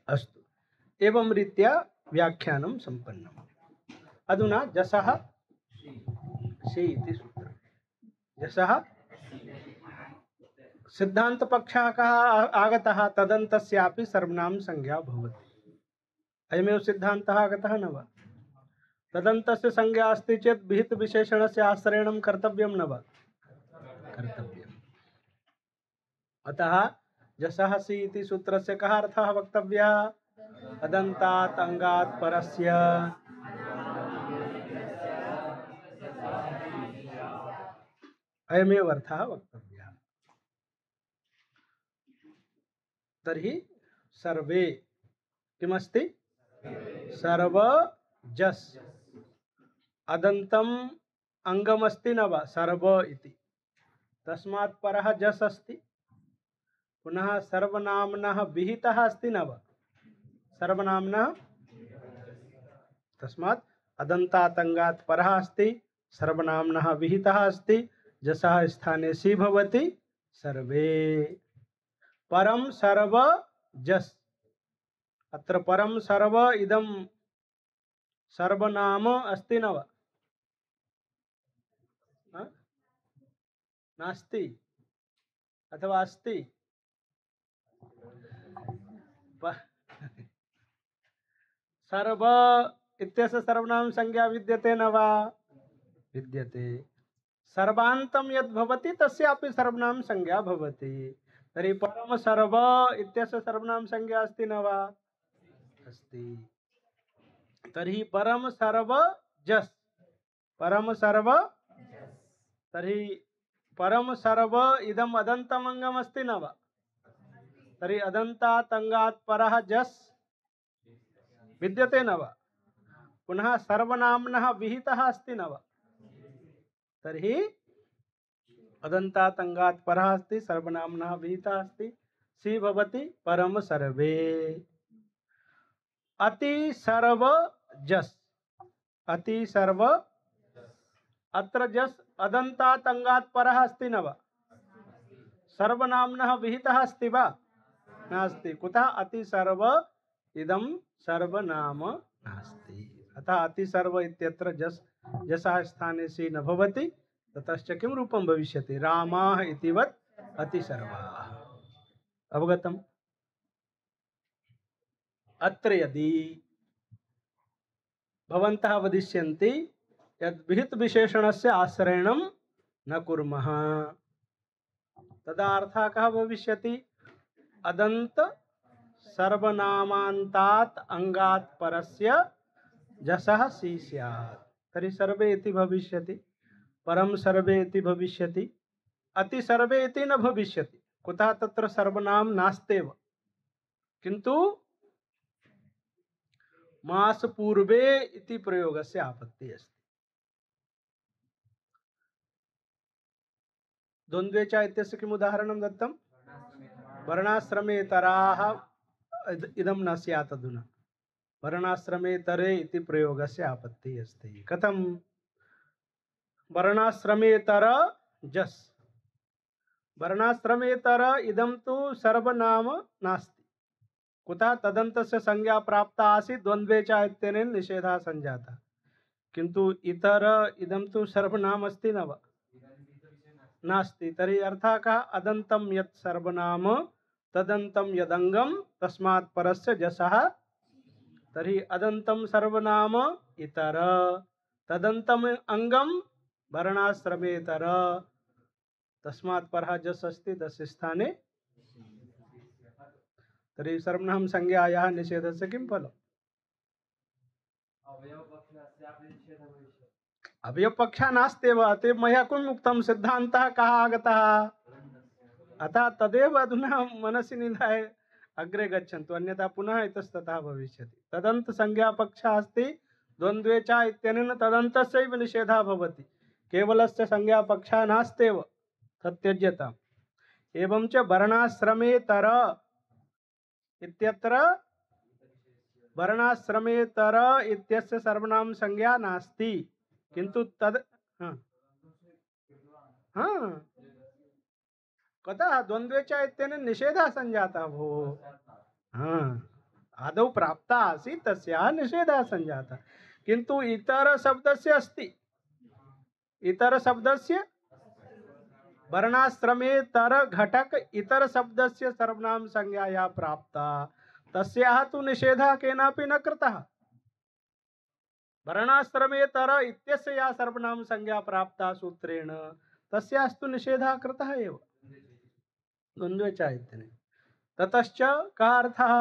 अस्तु, एवं रीत्या व्याख्यानं सम्पन्नम्। अधुना जसः सि इति सूत्रम्। जसः सिद्धान्तपक्षः कः आगतः, तदन्तस्यापि सर्वनाम संज्ञा भवति। अयमेव सिद्धान्तः आगतः न वा? तदन्तस्य संज्ञा अस्ति चेत् विहित विशेषणस्य आश्रयणं कर्तव्यं न वा? कर्तव्यम्। अतः जसः सि इति सूत्रस्य कः अर्थः वक्तव्यः? अदन्तात् अङ्गात् परस्य अयमेव अर्थः वक्तव्यः। तर्हि सर्वे किमस्ति? सर्वजस् अदन्तम् अङ्गमस्ति न वा? सर्व इति, तस्मात् परः जस् अस्ति। पुनः सर्वनाम्नः विहितः अस्ति न वा? सर्वनाम्नः, तस्मात् अदन्तात् अङ्गात् परः अस्ति, सर्वनाम्नः विहितः अस्ति, जसः स्थाने सि भवति सर्वे। परम सर्व जस्, अत्र परम सर्व इदं सर्वनाम अस्ति न वा? नास्ति अथवा अस्ति? सर्व इत्यस्य सर्वनाम संज्ञा विद्यते न वा? विद्यते। सर्वान्तं यद् भवति तस्यापि सर्वनाम संज्ञा भवति। तर्हि परम सर्व इत्यस्य सर्वनाम संज्ञा अस्ति न वा? अस्ति। तर्हि परम सर्व जस्, परम सर्व, तर्हि परम सर्व इदम् अदन्तम् अङ्गम् अस्ति न वा? तर्हि अदन्तात् अङ्गात् परः जस् विद्यते न वा? पुनः सर्वनाम्नः विहितः अस्ति न वा? तर्हि अदन्तात् अङ्गात् परः अस्ति, सर्वनाम्नः विहितः अस्ति, सि भवति परम सर्वे। अति सर्व जस्, अति सर्व, अत्र जस् अदन्तात् अङ्गात् परः अस्ति न वा? सर्वनाम्नः विहितः अस्ति वा? नास्ति। कुतः? अति सर्व इदं सर्वनाम नास्ति। अतः अति सर्व इत्यत्र जस्, जसः स्थाने सि न भवति, ततश्च किं रूपं भविष्यति? रामाः इतिवत् अति सर्वाः। अवगतम्? अत्र यदि भवन्तः वदिष्यन्ति यद् विहित विशेषणस्य आश्रयणं न कुर्मः, तदा अर्थः कः भविष्यति? अदन्त सर्वनामान्तात् अङ्गात् परस्य जसः सि स्यात्। तर्हि सर्वे इति भविष्यति, परम सर्वे इति भविष्यति, अति सर्वे इति न भविष्यति। कुतः? तत्र सर्वनाम नास्त्येव, किन्तु मास पूर्वे इति प्रयोगस्य आपत्तिः अस्ति। द्वन्द्वे च इत्यस्य किम् उदाहरणं दत्तं? वर्णाश्रमेतराः इदं न स्यात्। अधुना वर्णाश्रमेतरे इति प्रयोगस्य आपत्तिः अस्ति। कथं? वर्णाश्रमेतर जस् वर्णाश्रमेतर इदं तु सर्वनाम नास्ति। कुतः तदन्तस्य संज्ञा प्राप्ता आसीत् द्वन्द्वे च इत्यनेन निषेधः संजातः। किन्तु इतर इदं तु सर्वनाम अस्ति न वा? नास्ति। तर्हि अर्थः कः? अदन्तं यत् सर्वनाम तदन्तं यदङ्गम तस्मात् परस्य जसः। तर्हि अदन्तं सर्वनाम इतर, तदन्तम अंगम वर्णाश्रमेतर, तस्मात् परः जस् अस्ति तस्य स्थाने। तर्हि सर्वनाम संज्ञायाः निषेधस्य किं फलम्? अवयवपक्षः नास्त्येव। अतः मया किम् उक्तं? सिद्धान्तः कः आगतः? अतः तदेव अधुना मनसि निधाय अग्रे गच्छन्तु, अन्यथा पुनः इतस्ततः भविष्यति। तदन्त संज्ञा पक्षः अस्ति द्वन्द्वे च इत्यनेन तदन्तस्यैव निषेधः भवति। केवलस्य संज्ञा पक्षः नास्त्येव, तत्यज्यताम्। एवं च वर्णाश्रमेतर इत्यत्र वर्णाश्रमेतर इत्यस्य सर्वनाम संज्ञा नास्ति, किन्तु तद कतः द्वन्द्वे च इत्यनेन निषेधः संजातः भो। आदौ प्राप्ता आसीत् तस्याः निषेधः संजातः, किन्तु इतर शब्दस्य अस्ति। इतर शब्दस्य वर्णाश्रमेतर घटक इतर शब्दस्य सर्वनाम संज्ञाया प्राप्ता, तस्याः तु निषेधः केनापि न कृतः। वर्णाश्रमेतर इत्यस्य या सर्वनाम संज्ञा प्राप्ता सूत्रेण, तस्यास्तु निषेधः कृतः एव द्वन्द्वे च इत्यनेन। ततश्च कः अर्थः?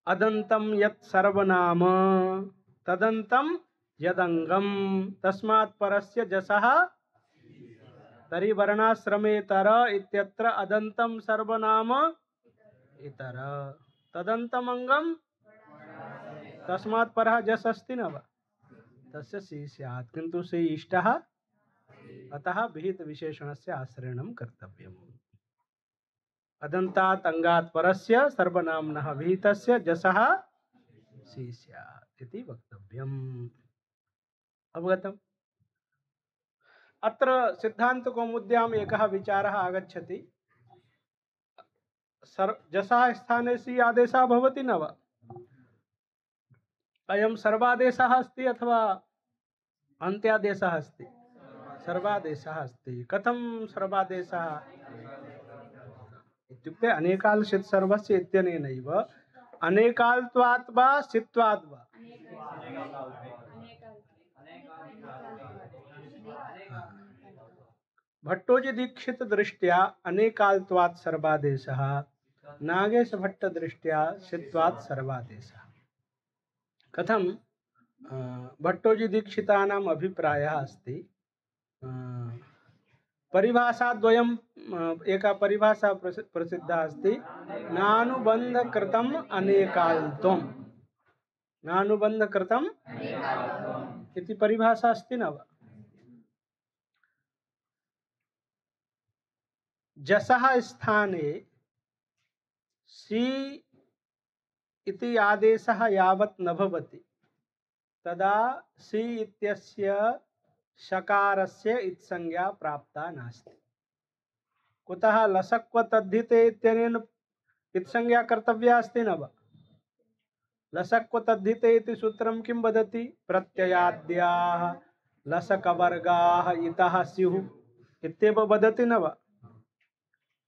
अदन्तं यत् सर्वनाम तदन्तं यदङ्गम तस्मात् परस्य जसः। तर्हि वर्णाश्रमेतर इत्यत्र अदन्तं सर्वनाम इतर, तदन्तम् अंगम तस्मात् परः जस् अस्ति न वा? तस्य सी स्यात्, किन्तु सी इष्टः, अतः विहित विशेषणस्य आश्रयणं कर्तव्यम्। अदन्तात् अंगात् परस्य सर्वनाम्नः विहितस्य जसः सी स्यात् इति वक्तव्यम्। अवगतम्? अत्र सिद्धान्तकौमुद्याम् एकः विचारः आगच्छति। जसः स्थाने सी आदेशः भवति न वा? अयं सर्वादेशः अस्ति अथवा अन्त्यादेशः अस्ति? सर्वादेशः अस्ति। कथं सर्वादेशः इत्युक्ते अनेकाल् सर्वस्य इत्यनेनैव अनेकाल्त्वात् वा सित्वात् वा? भट्टोजी दीक्षित दृष्ट्या अनेकाल्त्वात् सर्वादेशः, नागेश भट्ट दृष्ट्या सित्वात् सर्वादेशः। कथं? भट्टोजी दीक्षितानाम् अभिप्रायः अस्ति, परिभाषाद्वयम्, एका परिभाषा प्रसिद्धा अस्ति, नानुबन्धकृतम् अनेकाल्त्वम्, नानुबन्धकृतम् इति परिभाषा अस्ति न वा? जसः स्थाने सी इति आदेशः यावत् न भवति तदा सी इत्यस्य शकारस्य इत्संज्ञा प्राप्ता नास्ति। कुतः? लसक्व तद्धिते इत्यनेन इत्संज्ञा कर्तव्या अस्ति न वा? लसक्व तद्धिते इति सूत्रं किं वदति? प्रत्ययाद्याः लसकवर्गाः इतः स्युः इत्येव वदति न वा?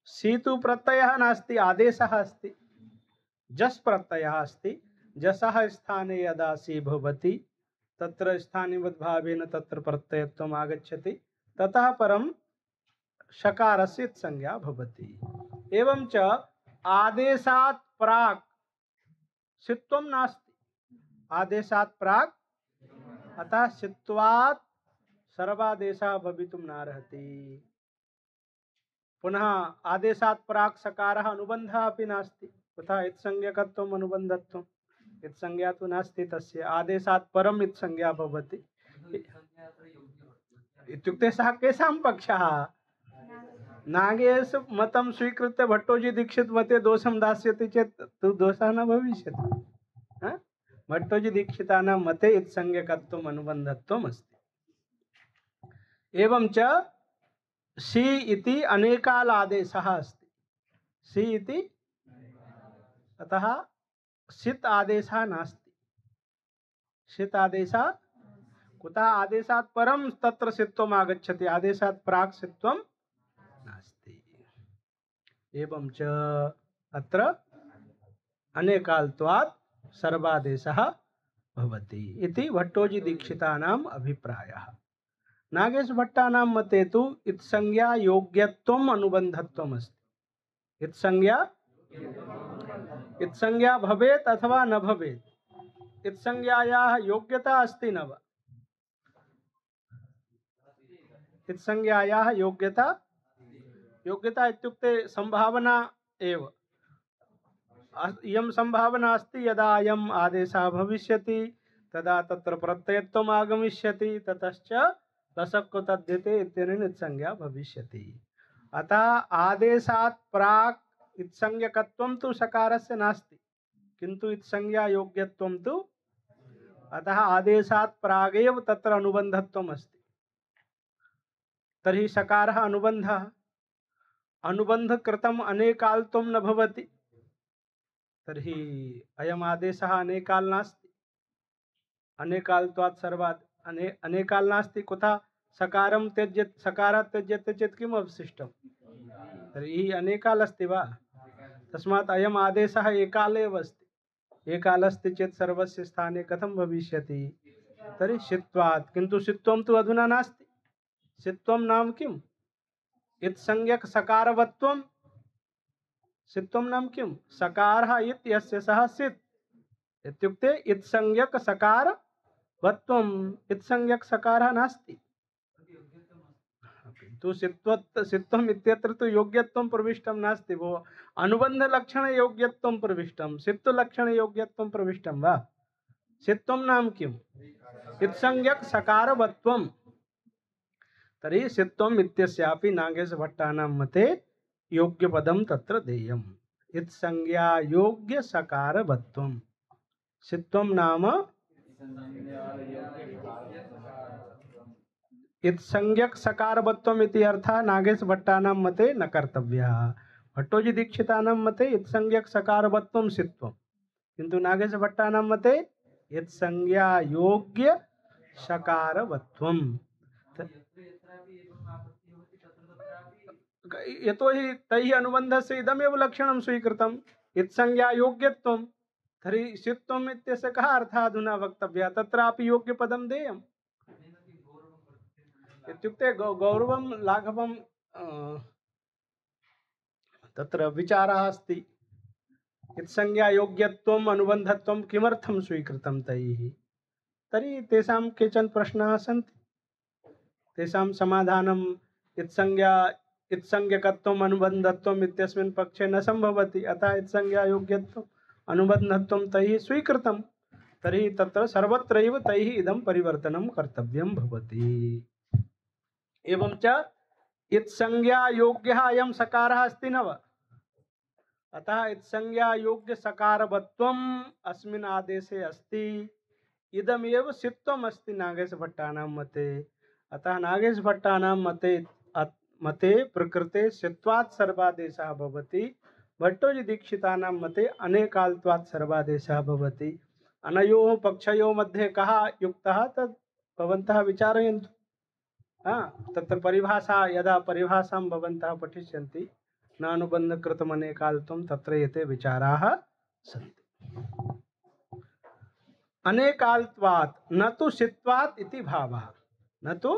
सी तु प्रत्ययः नास्ति, आदेशः अस्ति, जस् प्रत्ययः अस्ति। जसः स्थाने यदा सी भवति तत्र स्थानिवद्भावेन तत्र प्रत्ययत्वम् आगच्छति, ततः परं शकारस्य संज्ञा भवति। एवं च आदेशात् प्राक् सित्वं नास्ति, आदेशात् प्राक्, अतः सित्वात् सर्वादेशः भवितुं नार्हति। पुनः आदेशात् प्राक् सकारः अनुबन्धः अपि नास्ति, तथा इत्संज्ञकत्वम् अनुबन्धत्वम्, इत्संज्ञा तु नास्ति तस्य। आदेशात् परम् इत्संज्ञा भवति इत्युक्ते सः केषां पक्षः? नागेश मतं स्वीकृत्य भट्टोजी दीक्षित मते दोषं दास्यति चेत् तु दोषः न भविष्यति। भट्टोजी दीक्षितानां मते इत्संज्ञकत्वम् अनुबन्धत्वम् अस्ति। एवं च सि इति अनेकाल आदेशः अस्ति। सि इति अतः सित् आदेशः नास्ति। सित् आदेशः कुतः आदेशात् परं तत्र सित्वम् आगच्छति, आदेशात् प्राक् सित्वं नास्ति। एवं च अत्र अनेकाल्त्वात् सर्वादेशः भवति इति भट्टोजी दीक्षितानाम् अभिप्रायः। नागेश भट्टानां मते तु इत्संज्ञा योग्यत्वम् अनुबन्धत्वम् अस्ति। इत्संज्ञा भवेत् अथवा न भवेत्, इत्संज्ञायाः योग्यता अस्ति न वा? इत्संज्ञायाः योग्यता इत्युक्ते संभावना एव। इयं संभावना अस्ति, यदा अयम् आदेशः भविष्यति तदा तत्र प्रत्ययत्वम् आगमिष्यति, ततश्च लसक्को तद्धिते इत्यनेन इत्संज्ञा भविष्यति। अतः आदेशात् प्राक् इत्संज्ञकत्वं तु सकारस्य नास्ति, किन्तु इत्संज्ञा योग्यत्वं तु, अतः आदेशात् प्रागेव तत्र अनुबन्धत्वम् अस्ति। तर्हि सकारः अनुबन्धः, अनुबन्धकृतम् अनेकाल्त्वं न भवति, तर्हि अयम् आदेशः अनेकाल् नास्ति। अनेकाल्त्वात् सर्वात् अनेकाल् नास्ति। कुतः? सकारं त्यज्यते, सकारात् त्यज्यते चेत् किम् अवशिष्टं? तर्हि अनेकाल् अस्ति वा? तस्मात् अयम् आदेशः एकाल एव अस्ति। एकाल अस्ति चेत् सर्वस्य स्थाने कथं भविष्यति? तर्हि सित्वात्। किन्तु सित्वं तु अधुना नास्ति। सित्वं नाम किम्? इत्संज्ञक सकारवत्वं। सित्वं नाम किम्? सकारः इत् यस्य सः सित् इत्युक्ते इत्संज्ञक सकारवत्वम्। इत्संज्ञक सकारः नास्ति, किन्तु सित्वम् इत्यत्र तु योग्यत्वं प्रविष्टं नास्ति भो। अनुबन्धलक्षणयोग्यत्वं प्रविष्टं, सित्वलक्षणयोग्यत्वं प्रविष्टं वा? सित्वं नाम किम्? इत्संज्ञक सकारवत्वम्। तर्हि सित्वम् इत्यस्यापि नागेशभट्टानां मते योग्यपदं तत्र देयम्। इत्संज्ञा योग्य सकारवत्वम्। सित्वं नाम इत्संज्ञक सकारवत्वम् इति अर्थः नागेशभट्टानां मते न कर्तव्यः। भट्टोजी दीक्षितानां मते इत्संज्ञक सकारवत्वं सित्वं, किन्तु नागेशभट्टानां मते इत्संज्ञा योग्य सकारवत्वम्। यतोहि तैः अनुबन्धस्य इदमेव लक्षणं स्वीकृतम्, इत्संज्ञा योग्यत्वं। तर्हि सित्वम् इत्यस्य कः अर्थः अधुना वक्तव्यः? तत्रापि योग्यपदं देयम्। इत्युक्ते गौरवं लाघवं तत्र विचारः अस्ति। इत्संज्ञा योग्यत्वम् अनुबन्धत्वं किमर्थं स्वीकृतं तैः? तर्हि तेषां केचन प्रश्नाः सन्ति, तेषां समाधानम् इत्संज्ञकत्वम् अनुबन्धत्वम् इत्यस्मिन् पक्षे न सम्भवति। अतः इत्संज्ञा योग्यत्वम् अनुबन्धत्वं तैः स्वीकृतं। तर्हि तत्र सर्वत्रैव तैः इदं परिवर्तनं कर्तव्यं भवति। एवं च इत्संज्ञा योग्यः अयं सकारः अस्ति न वा? अतः इत्संज्ञा योग्य सकारवत्वम् अस्मिन् आदेशे अस्ति। इदमेव सित्वम् अस्ति नागेशभट्टानां मते। अतः नागेशभट्टानां मते प्रकृते सित्वात् सर्वादेशः भवति। भट्टोजी दीक्षितानां मते अनेकाल्त्वात् सर्वादेशः भवति। अनयोः पक्षयोः मध्ये कः युक्तः तद् भवन्तः विचारयन्तु। तत्र परिभाषा, यदा परिभाषां भवन्तः पठिष्यन्ति, न अनुबन्धकृतम् अनेकाल्त्वं, तत्र एते विचाराः सन्ति। अनेकाल्त्वात् न तु सित्वात् इति भावः, न तु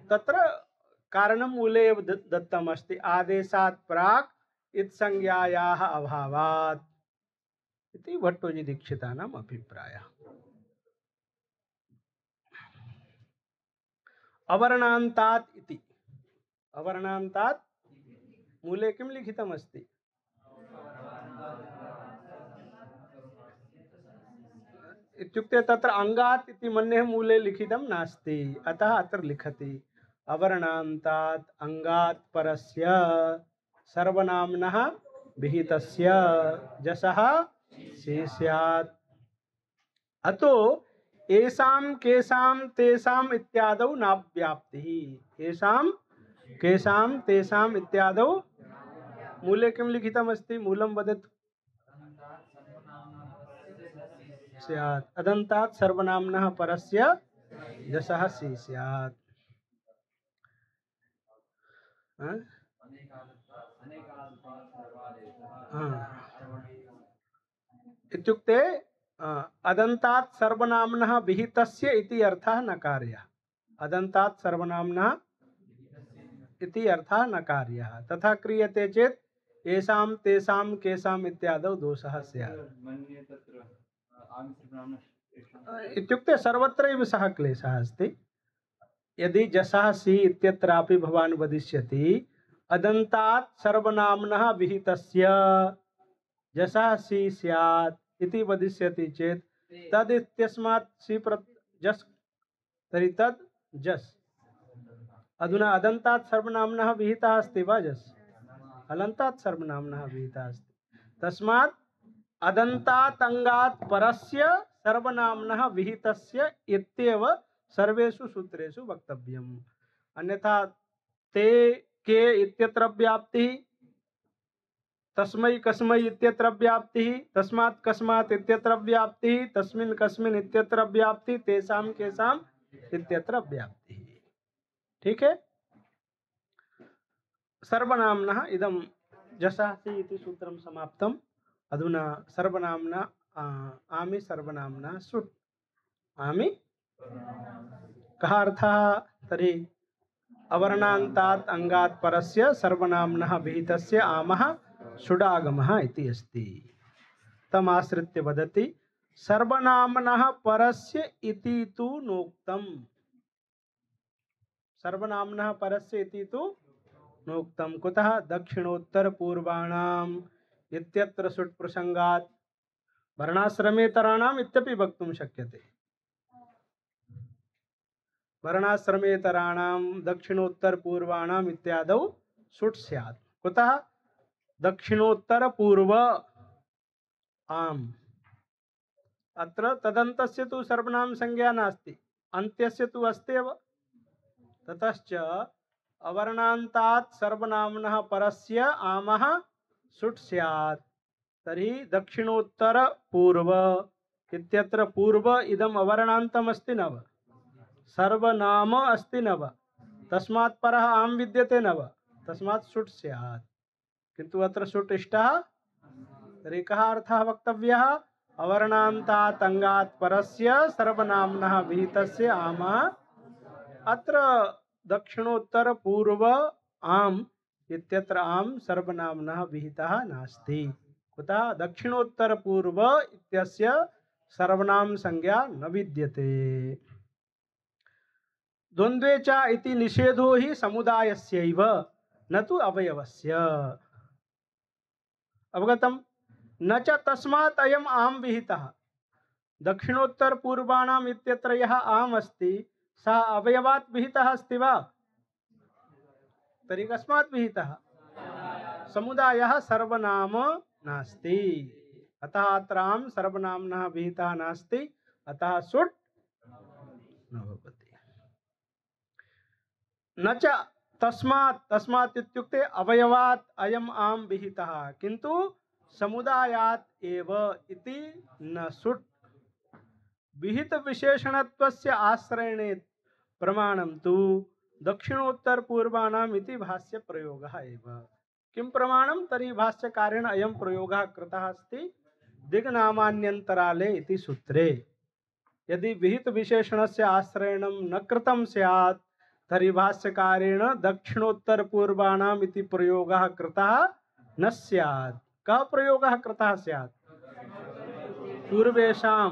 तत्र कारणं मूले एव दत्तम् अस्ति। आदेशात् प्राक् इत्संज्ञायाः अभावात् इति भट्टोजी दीक्षितानाम् अभिप्रायः। अवर्णान्तात् इति, अवर्णान्तात् मूले किं लिखितम् अस्ति? इत्युक्ते तत्र अङ्गात् इति मन्ये मूले लिखितं नास्ति, अतः अत्र लिखति अवर्णान्तात् अङ्गात् परस्य सर्वनाम्नः विहितस्य जसः स्यात्। अतो येषां केषां तेषाम् इत्यादौ नाव्याप्तिः। येषां केषां तेषाम् इत्यादौ मूले किं लिखितमस्ति? मूलं वदतु। स्यात् अदन्तात् सर्वनाम्नः परस्य जसः सि स्यात्। हाँ? इत्युक्ते अदन्तात् सर्वनाम्नः विहितस्य इति अर्थः नकार्यः। अदन्तात् सर्वनाम्नः इति अर्थः नकार्यः। तथा क्रियते चेत् येषां तेषां केषाम् इत्यादौ दोषः स्यात्। इत्युक्ते सर्वत्रैव सः क्लेशः अस्ति। यदि जसः सि इत्यत्रापि भवान् वदिष्यति अदन्तात् सर्वनाम्नः विहितस्य जसः सि स्यात् इति वदिष्यति चेत् तद् इत्यस्मात् सि जस्, तर्हि तद् जस्। अधुना अदन्तात् सर्वनाम्नः विहितः अस्ति वा जस्? अलन्तात् सर्वनाम्नः विहितः अस्ति। तस्मात् अदन्तात् अंगात् परस्य सर्वनाम्नः विहितस्य इत्येव सर्वेषु सूत्रेषु वक्तव्यम्। अन्यथा ते के इत्यत्र व्याप्तिः, तस्मै कस्मै इत्यत्र व्याप्तिः, तस्मात् कस्मात् इत्यत्र व्याप्तिः, तस्मिन् कस्मिन् इत्यत्र व्याप्तिः, तेषां केषाम् इत्यत्र व्याप्तिः। ठीक है। सर्वनाम्नः इदं जसासि इति सूत्रं समाप्तम्। अधुना सर्वनाम्ना आमि सर्वनाम्ना सुट्। आमि कः अर्थः? तर्हि अवर्णान्तात् अंगात् परस्य सर्वनाम्नः विहितस्य आमः सुडागमः इति अस्ति। तमाश्रित्य वदति सर्वनाम्नः परस्य इति तु नोक्तम्। सर्वनाम्नः परस्य इति तु नोक्तम्। कुतः? दक्षिणोत्तर पूर्वाणाम् इत्यत्र सुट् प्रसंगात्। वर्णाश्रमेतराणाम् इत्यपि वक्तुं शक्यते। वर्णाश्रमेतराणां दक्षिणोत्तर पूर्वाणाम् इत्यादौ सुट् स्यात्। कुतः? दक्षिणोत्तर पूर्व आम्। अत्र तदन्तस्य तु सर्वनाम संज्ञा नास्ति, अन्त्यस्य तु अस्त्येव। ततश्च अवर्णान्तात् सर्वनाम्नः परस्य आमः सुट् स्यात्। तर्हि दक्षिणोत्तर पूर्व इत्यत्र पूर्व इदम् अवर्णान्तम् अस्ति न वा? सर्वनाम अस्ति न वा? तस्मात् परः आम विद्यते न वा? तस्मात् सुट् स्यात्। किन्तु अत्र सुट् इष्टः। तर्हि कः अर्थः वक्तव्यः? अवर्णान्तात् अंगात् परस्य सर्वनाम्नः विहितस्य आमः। अत्र दक्षिणोत्तर पूर्व आम इत्यत्र आम सर्वनाम्नः विहितः नास्ति। कुतः? दक्षिणोत्तर पूर्व इत्यस्य सर्वनाम संज्ञा न विद्यते। द्वन्द्वे च इति निषेधो हि समुदायस्यैव न तु अवयवस्य। अवगतम्? न च तस्मात् अयम् आम विहितः। दक्षिणोत्तर पूर्वाणाम् इत्यत्र यः आम अस्ति सः अवयवात् विहितः अस्ति वा? तर्हि कस्मात् विहितः? समुदायः सर्वनाम नास्ति। अतः अत्र आम सर्वनाम्नः विहितः नास्ति, अतः सुट् न भवति। न च तस्मात्, तस्मात् इत्युक्ते अवयवात् अयम् आम विहितः, किन्तु समुदायात् एव इति न सुट्। विहित विशेषणत्वस्य आश्रयणे प्रमाणं तु दक्षिणोत्तर पूर्वाणाम् इति भाष्य प्रयोगः एव। किं प्रमाणं? तर्हि भाष्यकारेण अयं प्रयोगः कृतः अस्ति दिग्नामान्यन्तराले इति सूत्रे। यदि विहित विशेषणस्य आश्रयणं न कृतं स्यात् तर्हि भाष्यकारेण दक्षिणोत्तर पूर्वाणाम् इति प्रयोगः कृतः न स्यात्। कः प्रयोगः कृतः स्यात्? पूर्वेषां।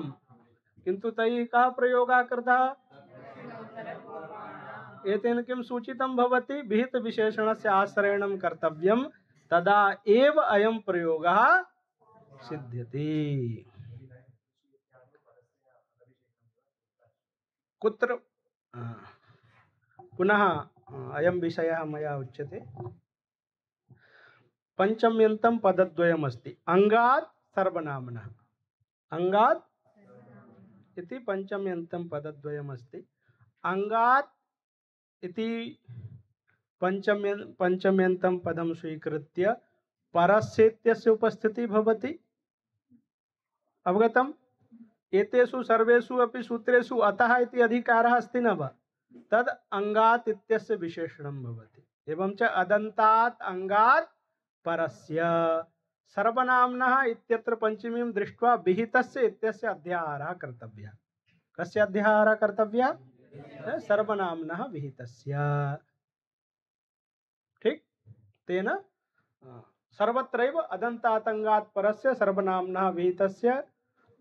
किन्तु तैः कः प्रयोगः कृतः? एतेन किं सूचितं भवति? विहित विशेषणस्य आश्रयणं कर्तव्यं, तदा एव अयं प्रयोगः सिद्ध्यति। कुत्र पुनः अयं विषयः मया उच्यते। पञ्चम्यन्तं पदद्वयम् अस्ति। अंगात् सर्वनाम्नः। अंगात् इति पंचम्यन्तं पदद्वयमस्ति। अंगात् इति पंचम्यन्तं पदं स्वीकृत्य परस्य इत्यस्य उपस्थितिः भवति। अवगतम्? एतेषु सर्वेषु अपि सूत्रेषु अतः इति अधिकारः अस्ति न वा? तद् अंगात् इत्यस्य विशेषणं भवति। एवं च अदन्तात् अंगात् परस्य सर्वनाम्नः इत्यत्र पंचमीं दृष्ट्वा विहितस्य इत्यस्य अध्याहारः कर्तव्यः। कस्य अध्याहारः कर्तव्यः? सर्वनाम्नः विहितस्य। ठीक? तेन सर्वत्रैव अदन्तात् अंगात् परस्य सर्वनाम्नः विहितस्य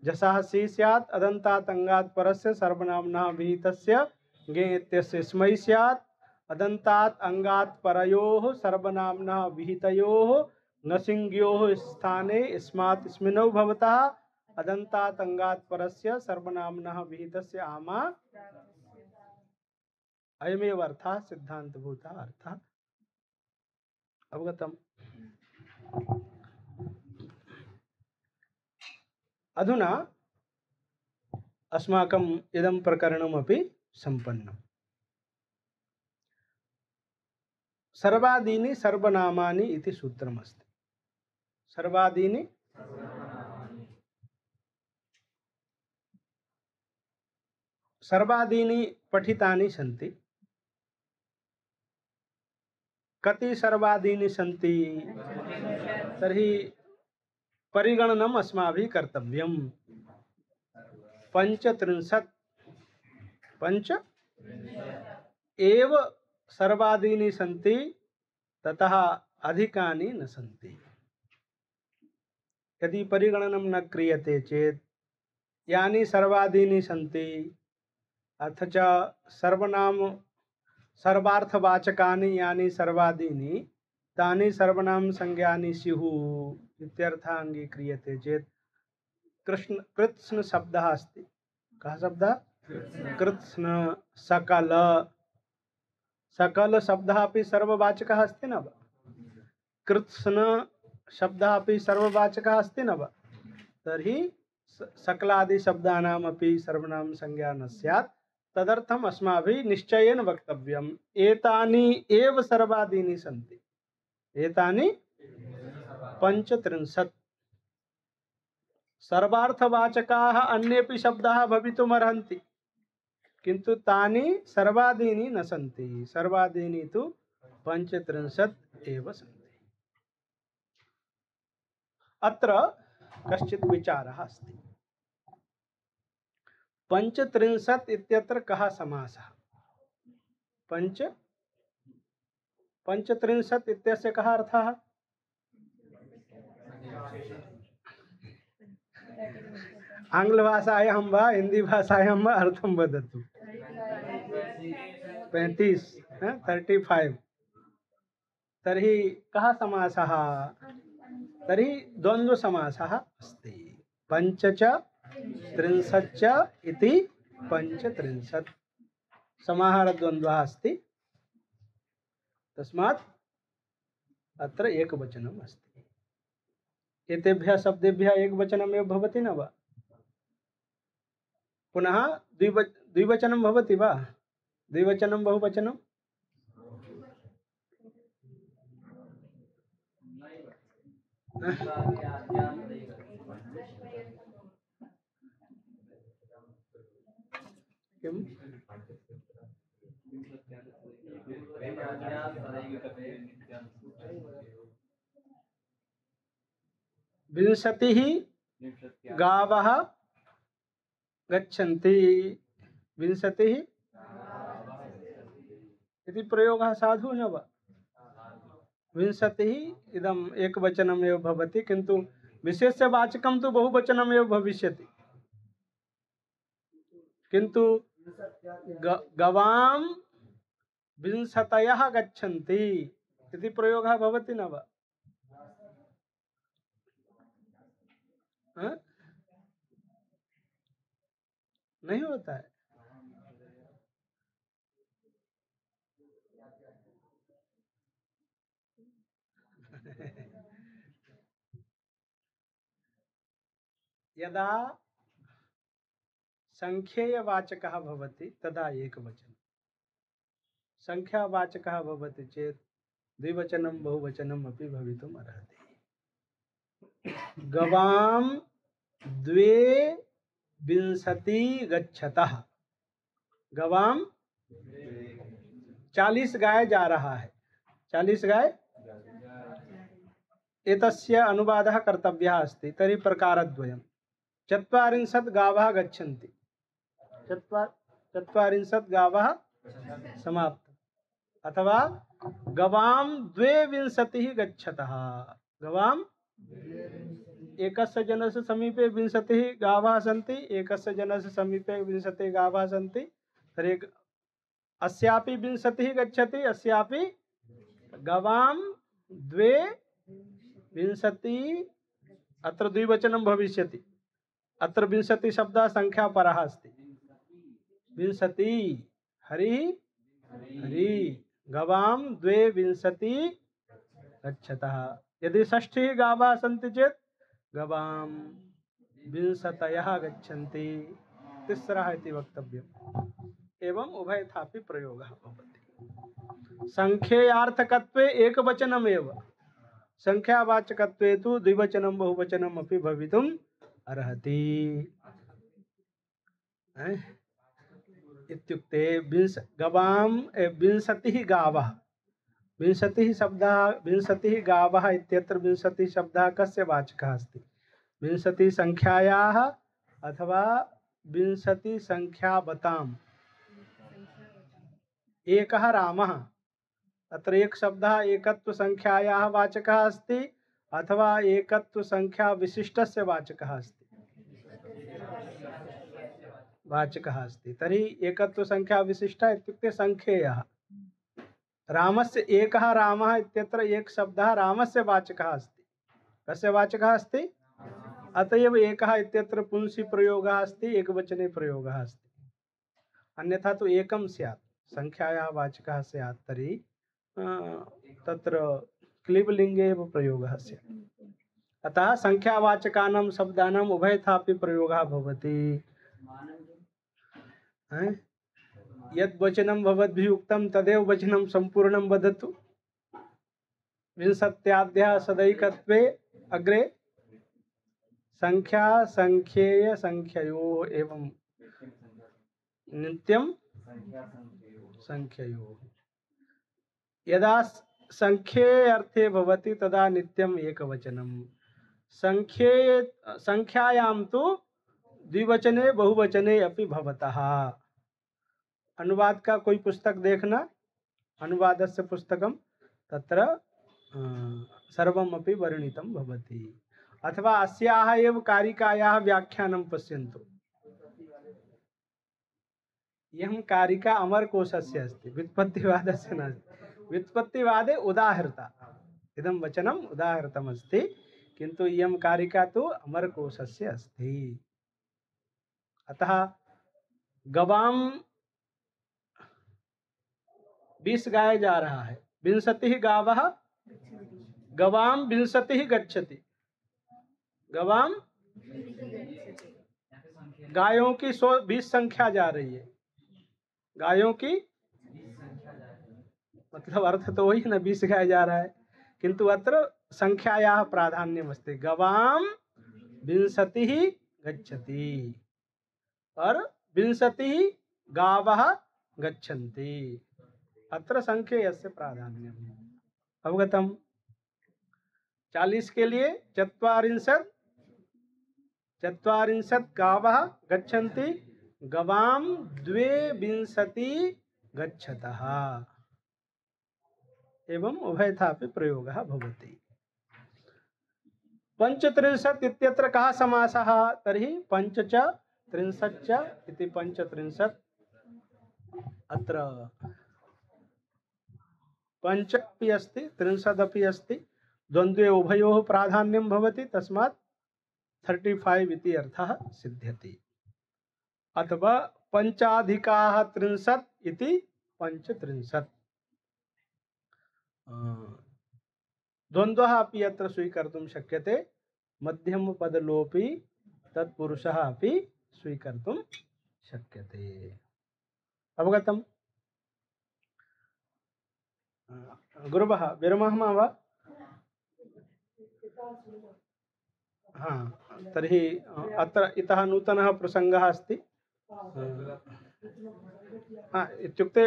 जसः सी स्यात् अदन्तात् अंगात् परस्य सर्वनाम्नः विहितस्य गे इत्यस्य स्मै स्यात् अदन्तात् अंगात् परयोः सर्वनाम्नः विहितयोः नसिंग्योः स्थाने स्मात् स्मिनौ भवतः अदन्तात् अंगात् परस्य सर्वनाम्नः विहितस्य आमा अयमेव अर्थः सिद्धान्तभूतः अर्थः। अवगतम्? अधुना अस्माकम् इदं प्रकरणमपि सम्पन्नम्। सर्वादीनि सर्वनामानि इति सूत्रमस्ति। सर्वादीनि सर्वादीनि पठितानि सन्ति। कति सर्वादीनि सन्ति? तर्हि परिगणनम् अस्माभिः कर्तव्यम्। 35 पंच एव सर्वादीनि सन्ति, ततः अधिकानि न सन्ति। यदि परिगणनं न क्रियते चेत् यानि सर्वादीनि सन्ति अथ च सर्वनाम सर्वार्थवाचकानि यानि सर्वादीनि तानि सर्वनाम संज्ञानि स्युः इत्यर्थः अंगीक्रियते चेत् कृत्स्न शब्दः अस्ति। कः शब्दः? कृत्स्न। सकल। सकल शब्दः अपि सर्ववाचकः अस्ति न वा? कृत्स्न शब्दः अपि सर्ववाचकः अस्ति न वा? तर्हि सकलादि शब्दानाम् अपि सर्वनाम संज्ञा न स्यात्। तदर्थम् अस्माभिः निश्चयेन वक्तव्यम् एतानि एव सर्वादीनि सन्ति। एतानि 35 सर्वार्थवाचकाः अन्येपि शब्दाः भवितुमर्हन्ति, किन्तु तानि सर्वादीनि न सन्ति। सर्वादीनि तु 35 एव सन्ति। अत्र कश्चित् विचारः अस्ति। 35 इत्यत्र कः समासः? 35 इत्यस्य कः अर्थः? आङ्ग्लभाषायां वा हिन्दीभाषायां वा अर्थं वदतु। 35 तर्हि कः समासः? तर्हि द्वन्द्वसमासः अस्ति। पञ्च च त्रिंशच्च इति 35 समाहारद्वन्द्वः अस्ति। तस्मात् अत्र एकवचनम् अस्ति। एतेभ्यः शब्देभ्यः एकवचनमेव भवति न वा? पुनः द्विवचनं भवति वा? द्विवचनं बहुवचनं? किम्? विंशतिः गावः गच्छन्ति। विंशतिः इति प्रयोगः साधु न वा? विंशतिः इदम् एकवचनमेव भवति, किन्तु विशेष्यवाचकं तु बहुवचनमेव भविष्यति। किन्तु गवां विंशतयः गच्छन्ति इति प्रयोगः भवति न वा? नहीं होता है। यदा संख्येयवाचकः भवति तदा एकवचनं, संख्यावाचकः भवति चेत् द्विवचनं बहुवचनम् अपि भवितुम् अर्हति। गवां द्वे विंशति गच्छतः, गवां 40 गाय जा रहा है, 40 गाय, एतस्य अनुवादः कर्तव्यः अस्ति। तर्हि प्रकारद्वयं, 40 गावः गच्छन्ति, 40 गावः समाप्त, अथवा गवां 22 गच्छतः, गवां एकस्य जनस्य समीपे 20 गावः सन्ति, एकस्य जनस्य समीपे 20 गावः सन्ति, तर्हि अस्यापि 20 गच्छति, अस्यापि गवां 22, अत्र द्विवचनं भविष्यति। अत्र 20 शब्दः संख्यापरः अस्ति, 20 हरिः हरि, गवां 22 गच्छतः। यदि 60 गावः सन्ति चेत् गवां 20 गच्छन्ति, तिस्रः इति वक्तव्यम्। एवं उभयथापि प्रयोगः भवति। संख्येयार्थकत्वे एकवचनमेव, संख्यावाचकत्वे तु द्विवचनं बहुवचनम् अपि भवितुम् अर्हति। इत्युक्ते गवां 20 गावः, 20 शब्दः, 20 गावः इत्यत्र 20 शब्दः कस्य वाचकः अस्ति? 20 संख्यायाः अथवा 20 संख्यावताम्। एकः रामः, अत्र एक शब्दः एकत्व संख्यायाः वाचकः अस्ति अथवा एकत्व संख्या विशिष्टस्य वाचकः अस्ति, वाचकः अस्ति। तर्हि एकत्व संख्या विशिष्टः इत्युक्ते संख्येयः। रामस्य एकः रामः इत्यत्र एक शब्दः रामस्य वाचकः अस्ति, कस्य वाचकः अस्ति? अतएव एकः इत्यत्र पुंसि प्रयोगः अस्ति, एकवचने प्रयोगः अस्ति। अन्यथा तो एकं स्यात्, संख्यायाः वाचकः स्यात् तर्हि तत्र क्लीबलिङ्गे एव प्रयोगः स्यात्। अतः संख्यावाचकानां शब्दानाम् उभयथापि प्रयोगः भवति। यद् वचनं भवद्भिः उक्तं तदेव वचनं सम्पूर्णं वदतु। विंशत्याद्यः सदैकत्वे अग्रे संख्या संख्येय संख्ययोः एवं नित्यं संख्ययोः। यदा संख्ये अर्थे भवति तदा नित्यम् एकवचनं, संख्यायां तु द्विवचने बहुवचने अपि भवतः। अनुवाद का कोई पुस्तक देखना, अनुवादस्य पुस्तकं, तत्र सर्वमपि वर्णितं भवति। अथवा अस्याः एव कारिकायाः व्याख्यानं पश्यन्तु। इयं कारिका अमरकोशस्य अस्ति, व्युत्पत्तिवादस्य नास्ति। व्युत्पत्तिवादे उदाहृता, इदं वचनम् उदाहृतमस्ति, किन्तु इयं कारिका तु अमरकोशस्य अस्ति। अतः गवां 20 गाय जा रहा है, 20 गावः, गवां 20 गच्छति, गवां गायों की 20 संख्या जा रही है, गायों की मतलब अर्थ तो वही ना, 20 गाय जा रहा है, किंतु अत्र संख्यायाः प्राधान्यमस्ति। गवां 20 गच्छति और 20 गावः गच्छन्ति, अत्र संख्येयस्य प्राधान्यम्। अवगतम्? 40 के लिए 40 गावः गच्छन्ति, गवां 22 गच्छतः। एवं उभयथापि प्रयोगः भवति। 35 इत्यत्र कः समासः? तर्हि 5 च 30 च इति 35। अत्र 5 अपि अस्ति 30 अपि अस्ति, द्वन्द्वे उभयोः प्राधान्यं भवति, तस्मात् 35 इति अर्थः सिद्ध्यति। अथवा 5+30 इति 35। द्वन्द्वः अपि अत्र स्वीकर्तुं शक्यते, मध्यमपदलोपी तत्पुरुषः अपि स्वीकर्तुं शक्यते। अवगतम्? गुरुवः विरमामः वा? हा, तर्हि अत्र इतः नूतनः प्रसङ्गः अस्ति। इत्युक्ते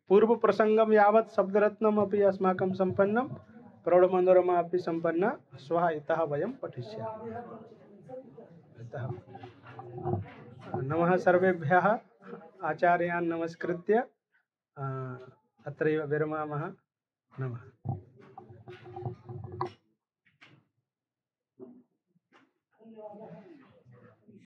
पूर्वप्रसङ्गं यावत् शब्दरत्नमपि अस्माकं सम्पन्नं, प्रौढमनोरमा अपि सम्पन्ना। श्वः इतः वयं पठिष्यामः। इतः नमः सर्वेभ्यः। आचार्यान् नमस्कृत्य अत्रैव विरमामः। नमः।